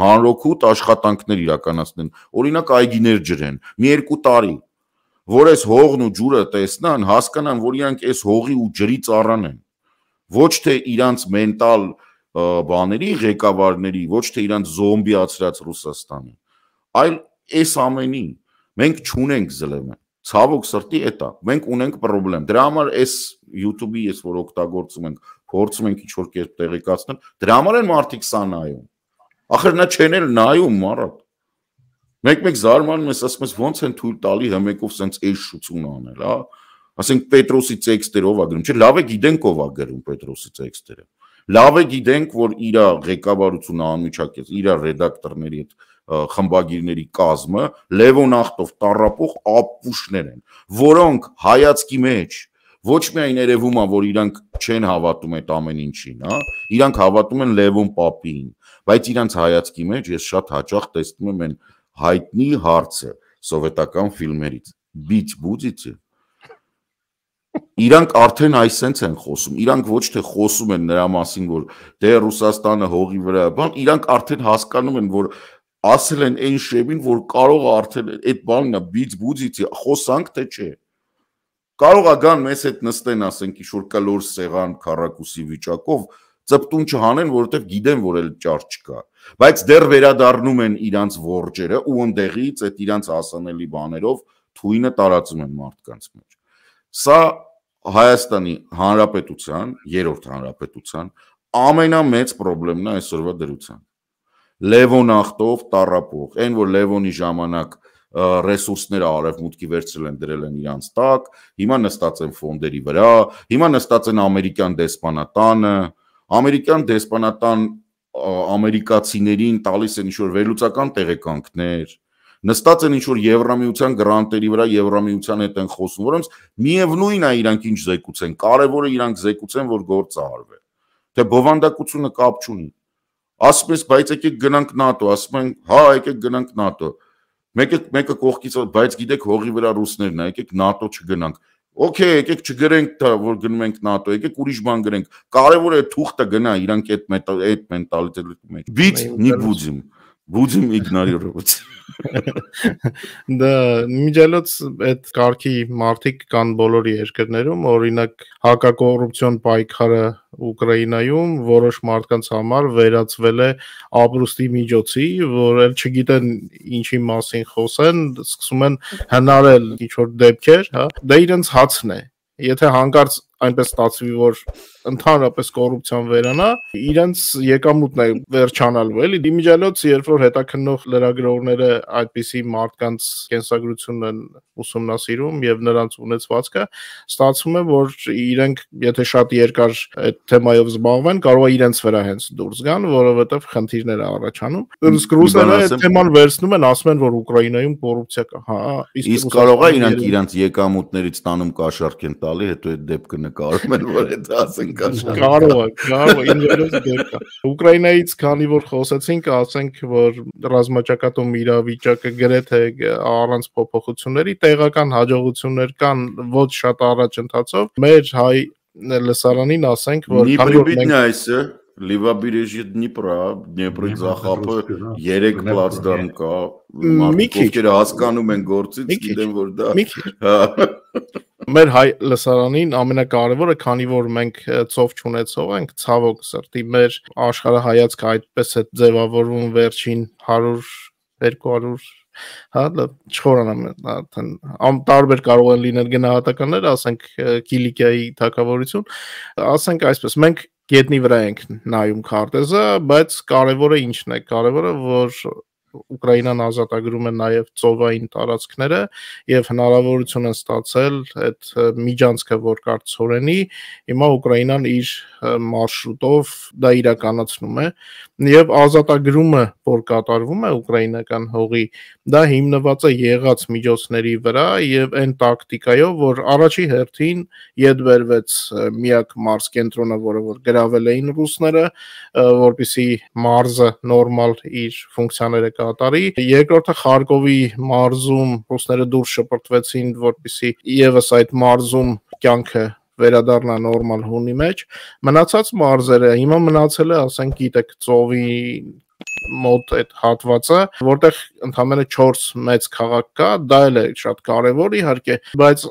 հանրօգուտ աշխատանքներ իրականացնեն, օրինակ այգիներ ջրեն, մի երկու տարի, որ այս հողն ու ջուրը տեսնան, հասկանան, որ իրանք այս հողի ու ջրի ծառան են, ոչ թե իրանց մենտալ բաների ղեկավարների, ոչ թե իրանց զոմբիացրած Ռուսաստանի, այլ այս ամենի, մենք չունենք ԶԼՄ, ցավոք սրտի էտա, մենք ունենք պրոբլեմ, դրա համար այս YouTube-ի ես որ օգտագործում ենք, փորձում ենք ինչ-որ կերպ տեղեկացնել, դրա համար են մարդիկ սա նայում, ախր նա չեն էլ նայում մարդ, մեկ-մեկ զարմանում ես, ասում ես ոնց են թույլ տալի հմեկով սենց էշ շուծուն անել, հա, ասենք Պետրոսի տեքստերը ով է գրում, չէ, լավ է գիտենք ով է գրում Պետրոսի տեքստերը, լավ է գիտենք, որ իր ղեկավարությունը անմիջակից, իր ռեդակտորների հետ խմբագիրների կազմը Լևոն Ախտով տառապող ապուշներ են, որոնք հայացքի մեջ ոչ միայն երևում է, որ իրանք չեն հավատում այդ ամեն ինչին, հա, իրանք հավատում են Լևոն Պապին, բայց իրանք հայացքի մեջ ես շատ հաճախ տեսնում եմ այն հայտնի հարցը սովետական ֆիլմերից, բիչ բուծիցը։ Իրանք արդեն այսենց են խոսում, իրանք ոչ թե խոսում են նրա մասին, որ դե Ռուսաստանը հողի վրա, բան, իրանք արդեն հասկանում են, որ ասել են այն շեմին, որ կարող է արդեն այդ բանն է բիչ բուծիցի, խոսանք թե չէ։ Կարող է գան մեզ հետ նստեն, ասենք, ինչ-որ կլոր սեղան քառակուսի վիճակով, ծպտուն չհանեն, որովհետև գիտեն, որ էլ ճար չկա, բայց դեռ վերադառնում են իրանց որջերը ու ընդեղից այդ իրանց հասանելի բաներով թույնը տարածում են մարդկանց մեջ։ Սա Հայաստանի Հանրապետության, երրորդ հանրապետության ամենամեծ խնդիրն է այսօրվա դրության։ Լևոն Ախտով տառապող, այն որ Լևոնի ժամանակ ռեսուրսները արևմուտքի վերցրել են դրել են իրանց տակ, հիմա նստած են ֆոնդերի վրա, հիմա նստած են ամերիկյան դեսպանատանը, ամերիկյան դեսպանատան ամերիկացիներին տալիս են ինչ-որ վերլուծական տեղեկանքներ, նստած են ինչ-որ Եվրամիության գրանտերի վրա, Եվրամիության հետ են խոսում, որոնց միևնույն է իրանք ինչ զեկուցեն, կարևորը իրանք զեկուցեն, որ գործը արվի, թե բովանդակությունը կապ չունի, ասում ես, բայց եկեք գնանք ՆԱՏՕ, ասում են, հա, եկեք գնանք ՆԱՏՕ, մեկը կողքից, բայց գիտեք հողի վրա ռուսներն է, եկեք ՆԱՏՕ չգնանք, օքեյ, եկեք չգրենք, որ գնում ենք ՆԱՏՕ, եկեք ուրիշ բան գրենք, կարևորը է թուղթը գնա իրանք այդ մենտալիտետի մեջ, բիծ նի բուձիմ, բուձիմ իգնորիրovat։ Դա միջելոց այդ կարգի մարդիկ կան բոլոր երկրներում, օրինակ հակակոռուպցիոն պայքարը Ուկրաինայում որոշ մարդկանց համար վերածվել է ապրուստի միջոցի, որ էլ չգիտեն ինչի մասին խոսեն, սկսում են հնարել ինչ-որ դեպքեր, հա, դա իրենց հացն է, եթե հանկարծ այնպես ստացվի, որ ընդհանրապես կոռուպցիան վերանա, իրենց եկամուտն է վերջանալու, էլի դիմիջալոց, երբ որ հետաքննող լրագրողները այդպիսի մարդկանց կենսագրությունն են ուսումնասիրում եւ նրանց ունեցվածքը, ստացվում է, որ իրենք եթե շատ երկար այդ թեմայով զբաղվեն, կարող է իրենց վրա հենց դուրս գան, որովհետեւ խնդիրներ է առաջանում։ Իսկ ռուսները այդ թեման վերցնում են, ասում են, որ Ուկրաինայում կոռուպցիա կա, հա, իսկ կարող է իրանք իրանք եկամուտներից տանում կաշառք են տալի, հետո այդ դեպքը նկարում են, որ այդ ասեն կաշառք։ Կարող է, կարող է, ինձ դեպք է։ Ուկրաինայից քանի որ խոսեցինք, ասենք, որ ռազմաճակատում իրավիճակը գրեթե առանց փոփոխությունների տեղական հաջողություններ կան ոչ շատ առաջ ընթացով։ Մեր հայ լսարանին ասենք, որ քանի որ մենք Լիվաբերեժի Դնիպրա, Դնիպրի Զախապը երեք պլացդարան կա, մարդիկ հասկանում են գործից, գիտեն որ դա։ Մեր հայ լսարանին ամենակարևորը, քանի որ մենք ծով չունեցող ենք, ցավոք սրտի, մեր աշխարհայացքը այդպես է ձևավորվում վերջին հարյուր երկու հարյուր հա չխորանամ արդեն տարբեր կարող են լինել գնահատականներ, ասենք Կիլիկիայի թագավորություն, ասենք այսպես, մենք գետնի վրա ենք նայում քարտեզը, բայց կարևորը ինչն է, կարևորը որ Ուկրաինան ազատագրում է նաև ծովային տարածքները եւ հնարավորություն են ստացել այդ միջանցքը, որ կար Ցորենի, հիմա Ուկրաինան իր մարշրուտով դա իրականացնում է եւ ազատագրումը, որ կատարվում է ուկրաինական հողի, դա հիմնված է եղած միջոցների վրա եւ այն տակտիկայով, որ առաջի հերթին յետ բերվեց միակ մարզ կենտրոնը, որը որ գրավել էին ռուսները, որպեսզի մարզը նորմալ իր ֆունկցիաները կատարի, երկրորդը Խարկովի մարզում ռուսները դուրս շպրտվեցին, որպեսզի եւս այդ մարզում կյանքը վերադառնա նորմալ հունի մեջ, մնացած մարզերը հիմա մնացել է, ասենք, գիտեք, ծովի մոտ այդ հատվածը, որտեղ ընդամենը չորս մեծ քաղաք կա, դա էլ է շատ կարևոր իհարկե, բայց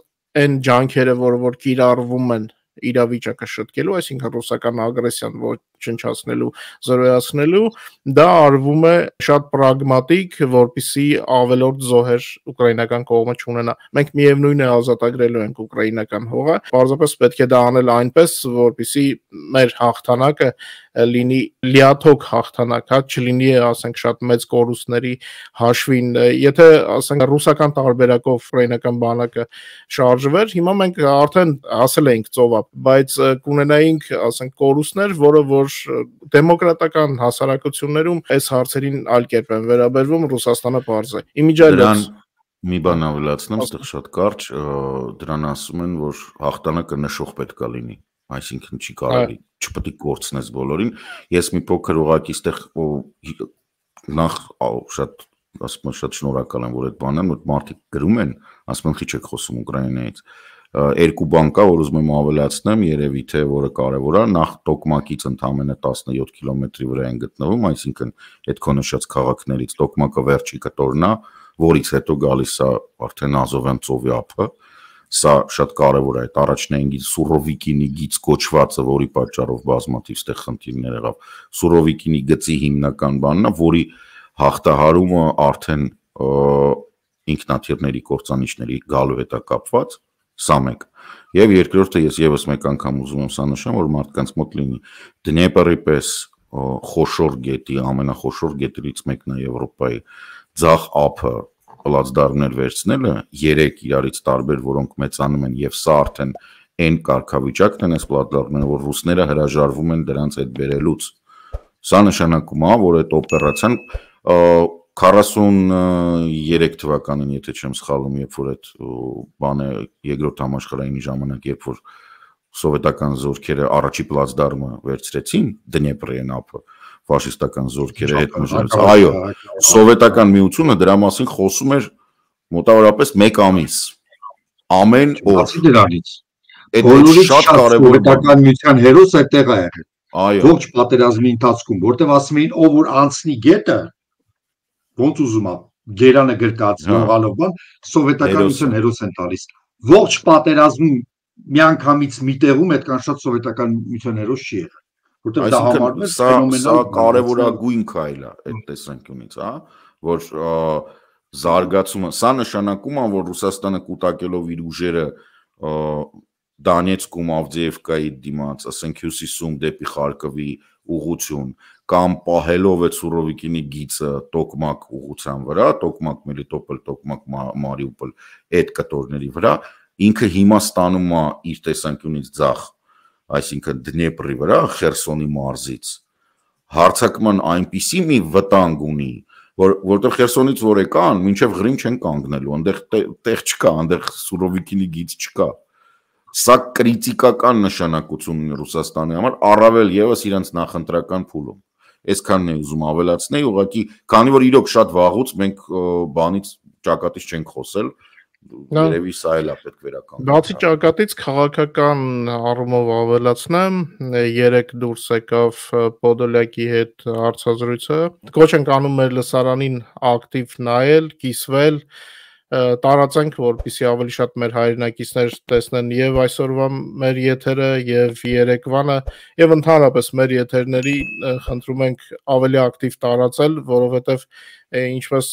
այն ջանքերը, որը որ կիրառվում են իրավիճակը շտկելու, այսինքն ռուսական ագրեսիան ոչնչացնելու, զրոյացնելու, դա արվում է շատ պրագմատիկ, որպեսզի ավելորդ զոհեր ուկրաինական կողմը չունենա։ Մենք միևնույն է ազատագրելու ենք ուկրաինական հողը, պարզապես պետք է դա անել այնպես, որպեսզի մեր հաղթանակը լինի լիաթոք հաղթանակ, հա, չլինի, ասենք, շատ մեծ կորուստների հաշվին, եթե, ասենք, ռուսական տարբերակով ուկրաինական բանակը շարժվեր, հիմա մենք արդեն ասել էինք ծովափ, բայց կունենայինք, ասենք, կորուստներ, որը որ որ դեմոկրատական հասարակություններում այս հարցերին այլ կերպ են վերաբերվում, Ռուսաստանը բարձ է։ Իմիջիայլոց մի բան ավելացնեմ, այստեղ շատ կարճ, դրան ասում են, որ հաղթանակը նշող պետք է լինի, այսինքն չի կարելի, չպետք է կորցնես բոլորին։ Ես մի փոքր ուղղակի այստեղ նախ շատ ասում եմ շատ շնորհակալ եմ, որ այդ բանն որ մարդիկ գրում են, ասում են, քիչ եք խոսում Ուկրաինայից։ Երկու բան կա, որ ուզում եմ ավելացնեմ, երևի թե որը կարևոր է, նախ Տոկմակից ընդամենը տասնյոթ կիլոմետրի վրա են գտնվում, այսինքն այդ քո նշած քաղաքներից Տոկմակը վերջի կտորն է, որից հետո գալիս է արդեն Ազովյան ծովի ափը, սա շատ կարևոր է, այդ առաջնային գիծ Սուրովիկինի գիծ կոչվածը, որի պատճառով բազմաթիվ ստեղ խնդիրներ եղավ, Սուրովիկինի գծի հիմնական բանն է, որի հաղթահարումը արդեն ինքնաթիռների կործանիչների գալու հետ է կապված, սա մեկ, եւ երկրորդը ես եւս մեկ անգամ ուզում եմ սա նշեմ, որ մարդկանց մոտ լինի Դնեպրի պես խոշոր գետի, ամենախոշոր գետերից մեկն է Եվրոպայի ձախ ափը պլացդարմներ վերցնելը, երեք իրարից տարբեր, որոնք մեծանում են եւ սա արդեն այն կարգավիճակն են այս պլատֆորմները, որ ռուսները հրաժարվում են դրանց հետ բերելուց։ Սա նշանակում է, որ այդ օպերացիան քառասուններեք թվականին, եթե չեմ սխալվում, երբ որ այդ բանը երկրորդ համաշխարհայինի ժամանակ, երբ որ սովետական զորքերը առաջի պլացդարմը վերցրեցին Դնեպրի ափը, ֆաշիստական զորքերը հետ մժարեց։ Այո, սովետական միությունը դրա մասին խոսում էր մոտավորապես մեկ ամիս։ Ամեն օր։ Դրանից։ Այդ շատ կարևոր սովետական միության հերոս այդտեղ է եղել։ Այո։ Ողջ պատերազմի ընթացքում, որտեղ ասում էին, ով որ անցնի գետը, ոնց ուզում է, գերանը գրկած ողալով բան, սովետական միության հերոս են տալիս։ Ողջ պատերազմում միանգամից մի տեղում այդքան շատ սովետական միության հերոս չի եղել։ Որտեղ դա համարվում է ֆենոմենալ կարևորագույն քայլ է այդ տեսանկյունից, հա, որ զարգացումը, սա նշանակում է, որ Ռուսաստանը կուտակելով իր ուժերը Դոնեցկում, Ավդիևկայի դիմաց, ասենք հյուսիսում դեպի Խարկովի ուղղություն, կամ պահելով այդ Սուրովիկինի գիծը Տոկմակ ուղղության վրա, Տոկմակ Մելիտոպոլ, Տոկմակ Մարիուպոլ, այդ կտորների վրա, ինքը հիմա ստանում է իր տեսանկյունից ձախ, այսինքն Դնեպրի վրա, Խերսոնի մարզից, հարձակման այնպիսի մի վտանգ ունի, որ որտեղ Խերսոնից որ եկան, մինչև Ղրիմ չեն կանգնելու, այնտեղ տեղ չկա, այնտեղ Սուրովիկինի գիծ չկա։ Սա կրիտիկական նշանակություն ունի Ռուսաստանի համար, առավել եւս իրենց նախընտրական փուլում։ Այսքանն է ուզում ավելացնել, ուղղակի, քանի որ իրոք շատ վաղուց մենք բանից ճակատից չենք խոսել, երևի սա էլ է պետք վերականգնել։ Բացի ճակատից քաղաքական առումով ավելացնեմ, երեք դուրս եկավ Պոդոլյակի հետ հարցազրույցը։ Կոչ ենք անում մեր լսարանին ակտիվ նայել, կիսվել, տարածենք, որպեսզի ավելի շատ մեր հայրենակիցներ տեսնեն եւ այսօրվա մեր եթերը եւ երեկվանը եւ ընդհանրապես մեր եթերների խնդրում ենք ավելի ակտիվ տարածել, որովհետեւ ինչպես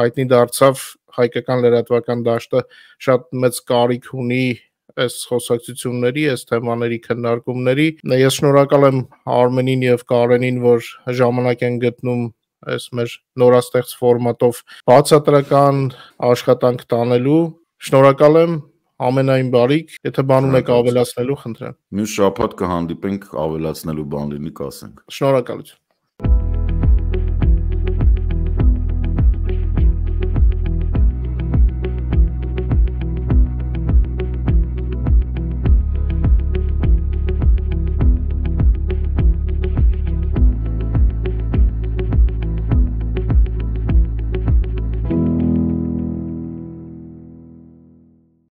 հայտնի դարձավ հայկական լրատվական դաշտը շատ մեծ կարիք ունի այս խոսակցությունների, այս թեմաների քննարկումների։ Ես շնորհակալ եմ Արմենին եւ Կարենին, որ ժամանակ են գտնում այս մեր նորաստեղծ ֆորմատով բացատրական աշխատանք տանելու։ Շնորհակալ եմ, ամենայն բարիք, եթե բան ունեք ավելացնելու, խնդրեմ։ Մյուս շաբաթ կհանդիպենք, ավելացնելու բան լինի, կասենք։ Շնորհակալություն։